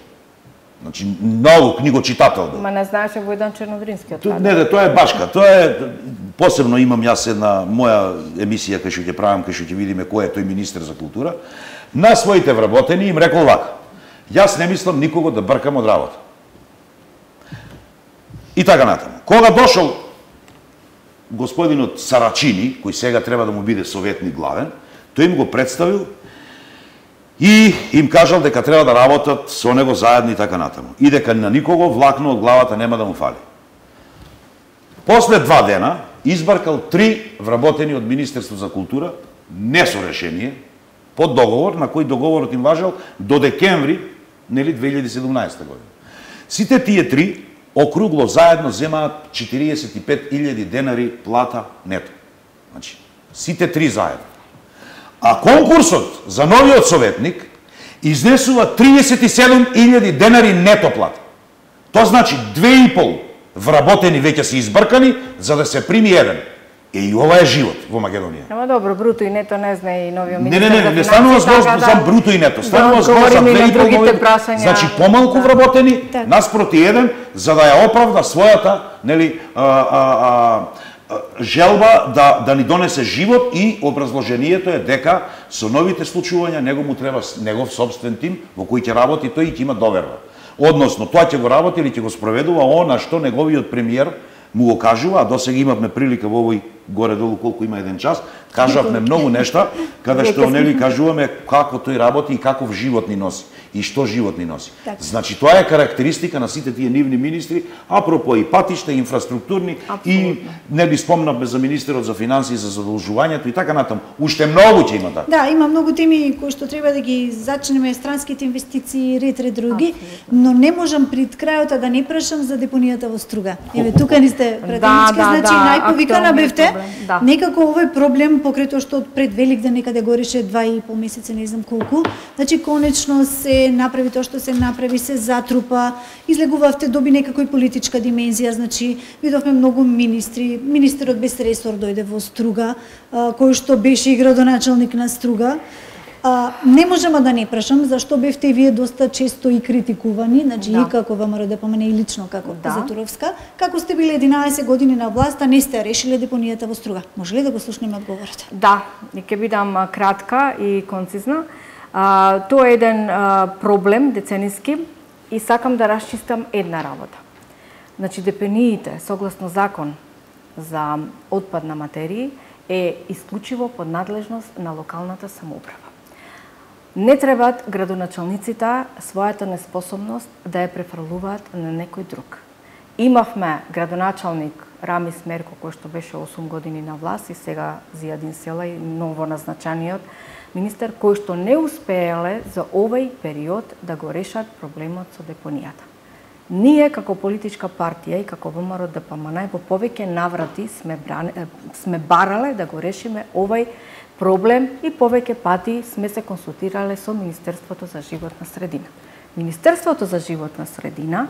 Значи, многу книгочитател бил. Ма не знаеше Војдан Чернодрински од тоа? Не, не, тоа е башка. Тоа е посебно имам јас една моја емисија кај што ќе правам, кај што ќе видиме кој е тој министер за култура. На своите вработени им рекол вака: јас не мислам никого да бркам од работа. И така натаму. Кога дошол господинот Сарачини, кој сега треба да му биде советник главен, тој им го представил и им кажал дека треба да работат со него заедно и така натаму. И дека на никого влакно од главата нема да му фали. После два дена избаркал три вработени од Министерство за култура, не со решение, под договор, на кој договорот им важел до декември, нели, две илјади и седумнаесета година. Сите тие три округло заедно земаат четириесет и пет илјади денари плата нето. Значи, сите три заедно. А конкурсот за новиот советник изнесува триесет и седум илјади денари нето плата. Тоа значи две и пол вработени веќе се избркани за да се прими еден. Е, и ова е живот во Македонија. Ама добро, бруто и нето не знае и новиот Не, министер. не, не, не станува збор за бруто и нето. Станува збор за две и пол нови. Значи помалку вработени наспроти еден за да ја оправда својата, нели, а, а, а, желба да да ни донесе живот, и образложението е дека со новите случувања него му треба негов собствен тим во кој ќе работи тој и ќе има доверба. Односно, тоа ќе го работи или ќе го спроведува она што неговиот премиер му го кажува, а досега имавме прилика во овој горе-долу колку има еден час, кажавме многу нешта, каде што нели кажуваме како тој работи и каков живот ни носи и што живот ни носи. Так. Значи тоа е карактеристика на сите тие нивни министри, апропо и патишта, и инфраструктурни, Абсолютно. и нели спомнавме за министерот за финансии, за задолжувањето и така натаму. Уште многу ќе има така. Да, има многу теми кои што треба да ги зачнеме, странските инвестиции, ред ред други, но не можам пред крајот да не прашам за депонијата во Струга. Еве тука ни сте пратенички, да, значи да, најповикана бевте. Да. Некако овој проблем покрај тоа што пред Великден некаде гореше два и пол месеци, не знам колку. Значи конечно се направи тоа што се направи, се затрупа, излегувавте, доби некако и политичка димензија, значи видовме многу министри, министерот без ресор дојде во Струга, кој што беше и градоначалник на Струга. А, не можеме да не прашам зашто бевте и вие доста често и критикувани, значи да. И како ВМРО да помине и лично како да. Затуровска, како сте биле единаесет години на власт, а не сте решиле депонијата во Струга. Може ли да го слушнеме одговорот? Да, и ќе бидам кратка и концизна. А, тоа е еден а, проблем децениски и сакам да расчистам една работа. Значи депониите согласно закон за отпад на материи е исклучиво под надлежност на локалната самоуправа. Не требаат градоначалниците својата неспособност да ја префрлуваат на некој друг. Имавме градоначалник Рамис Мерко, кој што беше осум години на власт, и сега Зијадин Селај, ново назначениот министер, кој што не успееле за овој период да го решат проблемот со депонијата. Ние како политичка партија и како ВМРО Д П М Н во повеќе наврати сме, бране, сме барале да го решиме овој проблем и повеќе пати сме се консултирале со Министерството за животна средина. Министерството за животна средина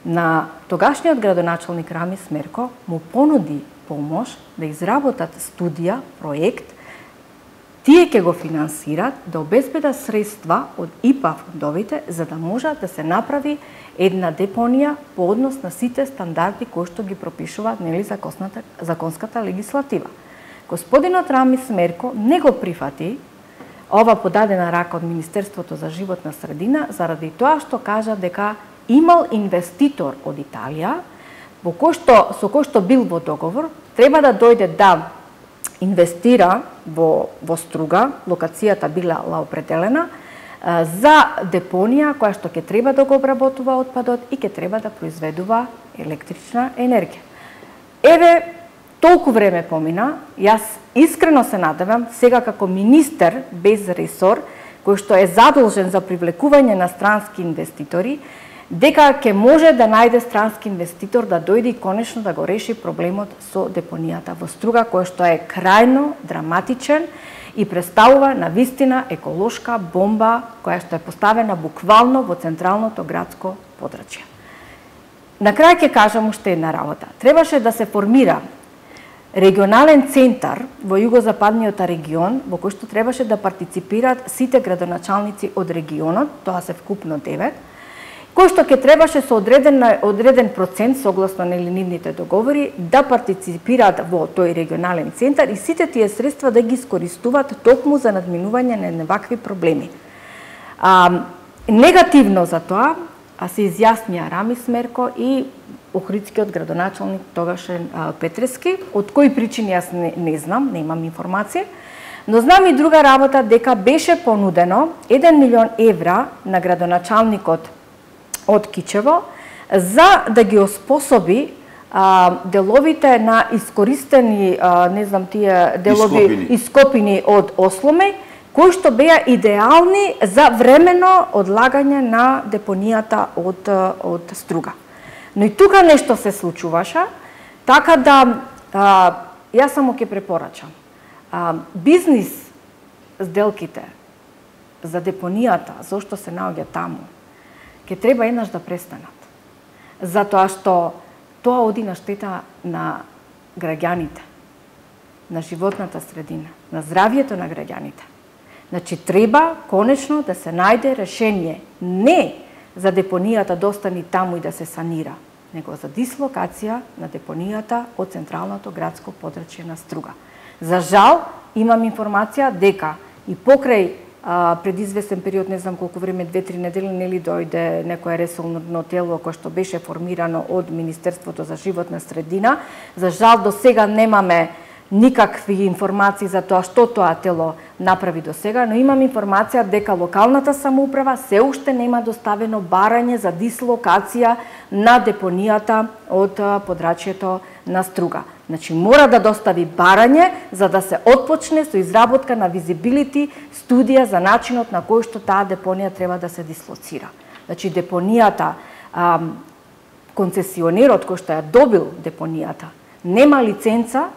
на тогашниот градоначалник Рамис Мерко му понуди помош да изработат студија, проект, тие ќе го финансират, да обезбедат средства од И П А фондовите за да може да се направи една депонија по однос на сите стандарди кои што ги пропишуваат нели законската, законската легислатива. Господинот Рамис Мерко не го прифати ова подадена рака од Министерството за животна средина заради тоа што кажа дека имал инвеститор од Италија во кој што, со кој што бил во договор, треба да дојде да инвестира во, во Струга, локацијата била определена, за депонија која што ќе треба да го обработува отпадот и ќе треба да произведува електрична енергија. Еве, толку време помина, јас искрено се надевам, сега како министер без ресор, кој што е задолжен за привлекување на странски инвеститори, дека ќе може да најде странски инвеститор да дојде и конечно да го реши проблемот со депонијата во Струга, кој што е крајно драматичен и представува на вистина еколошка бомба која што е поставена буквално во централното градско подрачје. На крај ќе кажам уште една работа. Требаше да се формира регионален центар во југозападниот регион во кој што требаше да партиципираат сите градоначалници од регионот, тоа се вкупно девет, кој што ќе требаше со одреден одреден процент согласно нели нивните договори да партиципираат во тој регионален центар и сите тие средства да ги искористуваат токму за надминување на вакви проблеми. А, негативно за тоа а се изјаснија Рами Смерко и Охридскиот градоначалник тогашен Петрески, од кои причини јас не, не знам, немам информација, но знам и друга работа дека беше понудено еден милион евра на градоначалникот од Кичево за да ги оспособи а, деловите на искористени, а, не знам тие делови ископини, ископини од Осломе, кои што беа идеални за времено одлагање на депонијата од, од Струга. Но и тука нешто се случуваше, така да а, јас само ќе препорачам. А, бизнис сделките за депонијата, зошто се наоѓа таму, ќе треба еднаш да престанат. Затоа што тоа оди на штета на граѓаните, на животната средина, на здравјето на граѓаните. Значи, треба конечно да се најде решение не за депонијата да остани таму и да се санира, него за дислокација на депонијата од централното градско подрачје на Струга. За жал, имам информација дека и покрај а, пред известен период, не знам колку време, две-три недели, нели дојде некое ресорно тело кој што беше формирано од Министерството за животна средина. За жал, до сега немаме никакви информации за тоа што тоа тело направи до сега, но имам информација дека локалната самоуправа се уште нема доставено барање за дислокација на депонијата од подрачјето на Струга. Значи, мора да достави барање за да се отпочне со изработка на визибилити студија за начинот на кој што таа депонија треба да се дислоцира. Значи, депонијата, а, концесионерот кој што ја добил депонијата, нема лиценца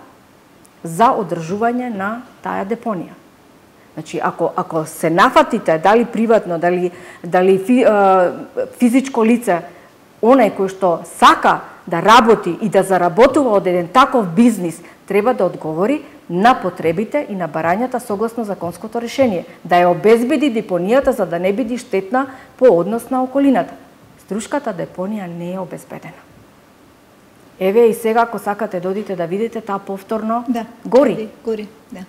за одржување на таа депонија. Значи, ако, ако се нафатите, дали приватно, дали, дали фи, е, физичко лице, онај кој што сака да работи и да заработува од еден таков бизнис, треба да одговори на потребите и на барањата согласно законското решение, да ја обезбеди депонијата за да не биде штетна по однос на околината. Струшката депонија не е обезбедена. Еве и сега, ако сакате да одите да видите, таа повторно да, гори. Гори, да.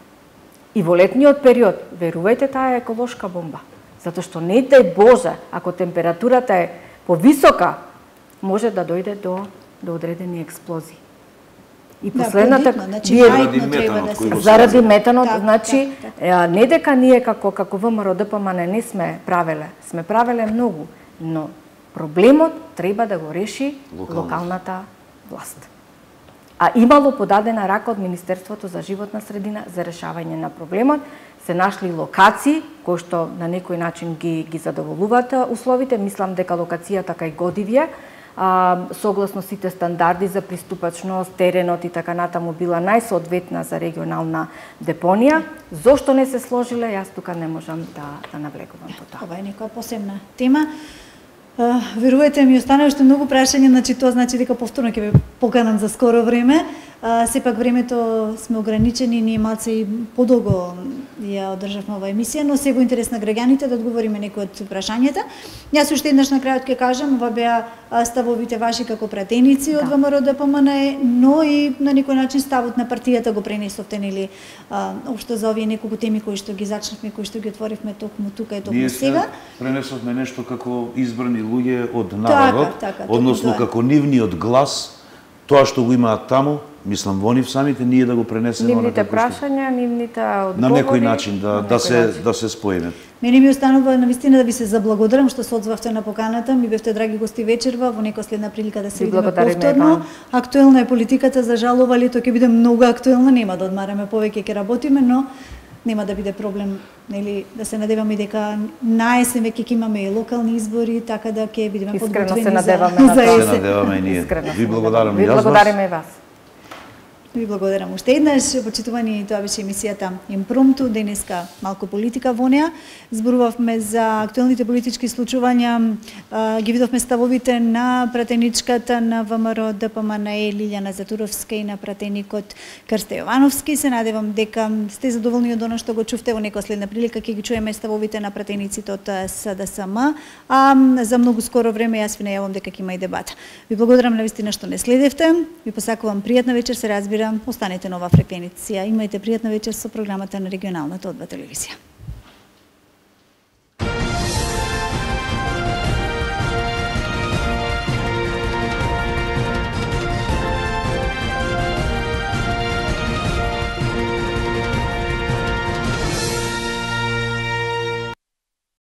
И во летниот период, верувајте, таа е еколошка бомба. Затоа што не дај Боже, ако температурата е повисока, може да дојде до, до одредени експлозии. И последната... Да, значи, вие, заради метанот, да се... заради метанот, так, значи, так, так. не дека ние како, како ВМРО Д П М Н не сме правеле, сме правеле многу, но проблемот треба да го реши Локалната, локалната власт. А имало подадена рака од Министерството за животна средина за решавање на проблемот. Се нашли локации кои што на некој начин ги ги задоволуваат условите. Мислам дека локацијата кај Годивје, а, согласно сите стандарди за приступачност, теренот и така натаму била најсоодветна за регионална депонија. Зошто не се сложиле, јас тука не можам да да навлегувам по тоа. Ова е некоја посебна тема. Uh, верувајте ми, останаа уште многу прашања, значи тоа значи дека повторно ќе ве поканам за скоро време. Uh, сепак времето сме ограничени, ние малце и подолго ја одржавме оваа емисија, но се во интерес на граѓаните да одговориме некои од прашањата. Јас уште еднаш на крајот ќе кажам, ова беа ставовите ваши како пратеници да. од ВМРО Д П М Н, но и на некој начин ставот на партијата го пренесовте, нели, општо за овие неколку теми кои што ги зачнавме, кои што ги отворивме токму тука и токму сега. Ние пренесовме нешто како избрани луѓе од народот, така, така, односно тоа. како нивниот глас, тоа што го имаат таму, мислам во нив самите, ние да го пренесеме нивните прашања, нивните одговори. На некој начин да да се начин. да се споиме. Мене ми останува навистина да ви се заблагодарам што се одзвавте на поканата, ми бевте драги гости вечерва, во некоја следна прилика да се видиме повторно. Актуелна е политиката, за жал ова лето ќе биде многу актуелна, нема да одмараме повеќе, ќе работиме, но нема да биде проблем, нели, да се надеваме дека на есен веќе ќе имаме и локални избори, така да ќе бидеме подготвени се надеваме за, на за тоа. есен. Се надеваме и ние. Искрено Ви благодарам и јас. Ви благодариме и вас. Ви благодарам уште еднаш. Почитувани, тоа беше емисијата Импромту. Денеска малку политика во неа. Зборувавме за актуелните политички случувања, ги видовме ставовите на пратеничката на ВМРО ДПМН Лилјана Затуровска и на пратеникот Крсте Јовановски. Се надевам дека сте задоволни од она што го чувте. Во некоја следна прилика ќе ги чуеме ставовите на пратениците од СДСМ, а за многу скоро време јас ви најавам дека ќе има и дебата. Ви благодарам навистина што не следевте. Ви посакувам пријатна вечер, се разбира. Останете на оваа фреквенција. Имајте пријатна вечер со програмата на регионалната О два телевизија.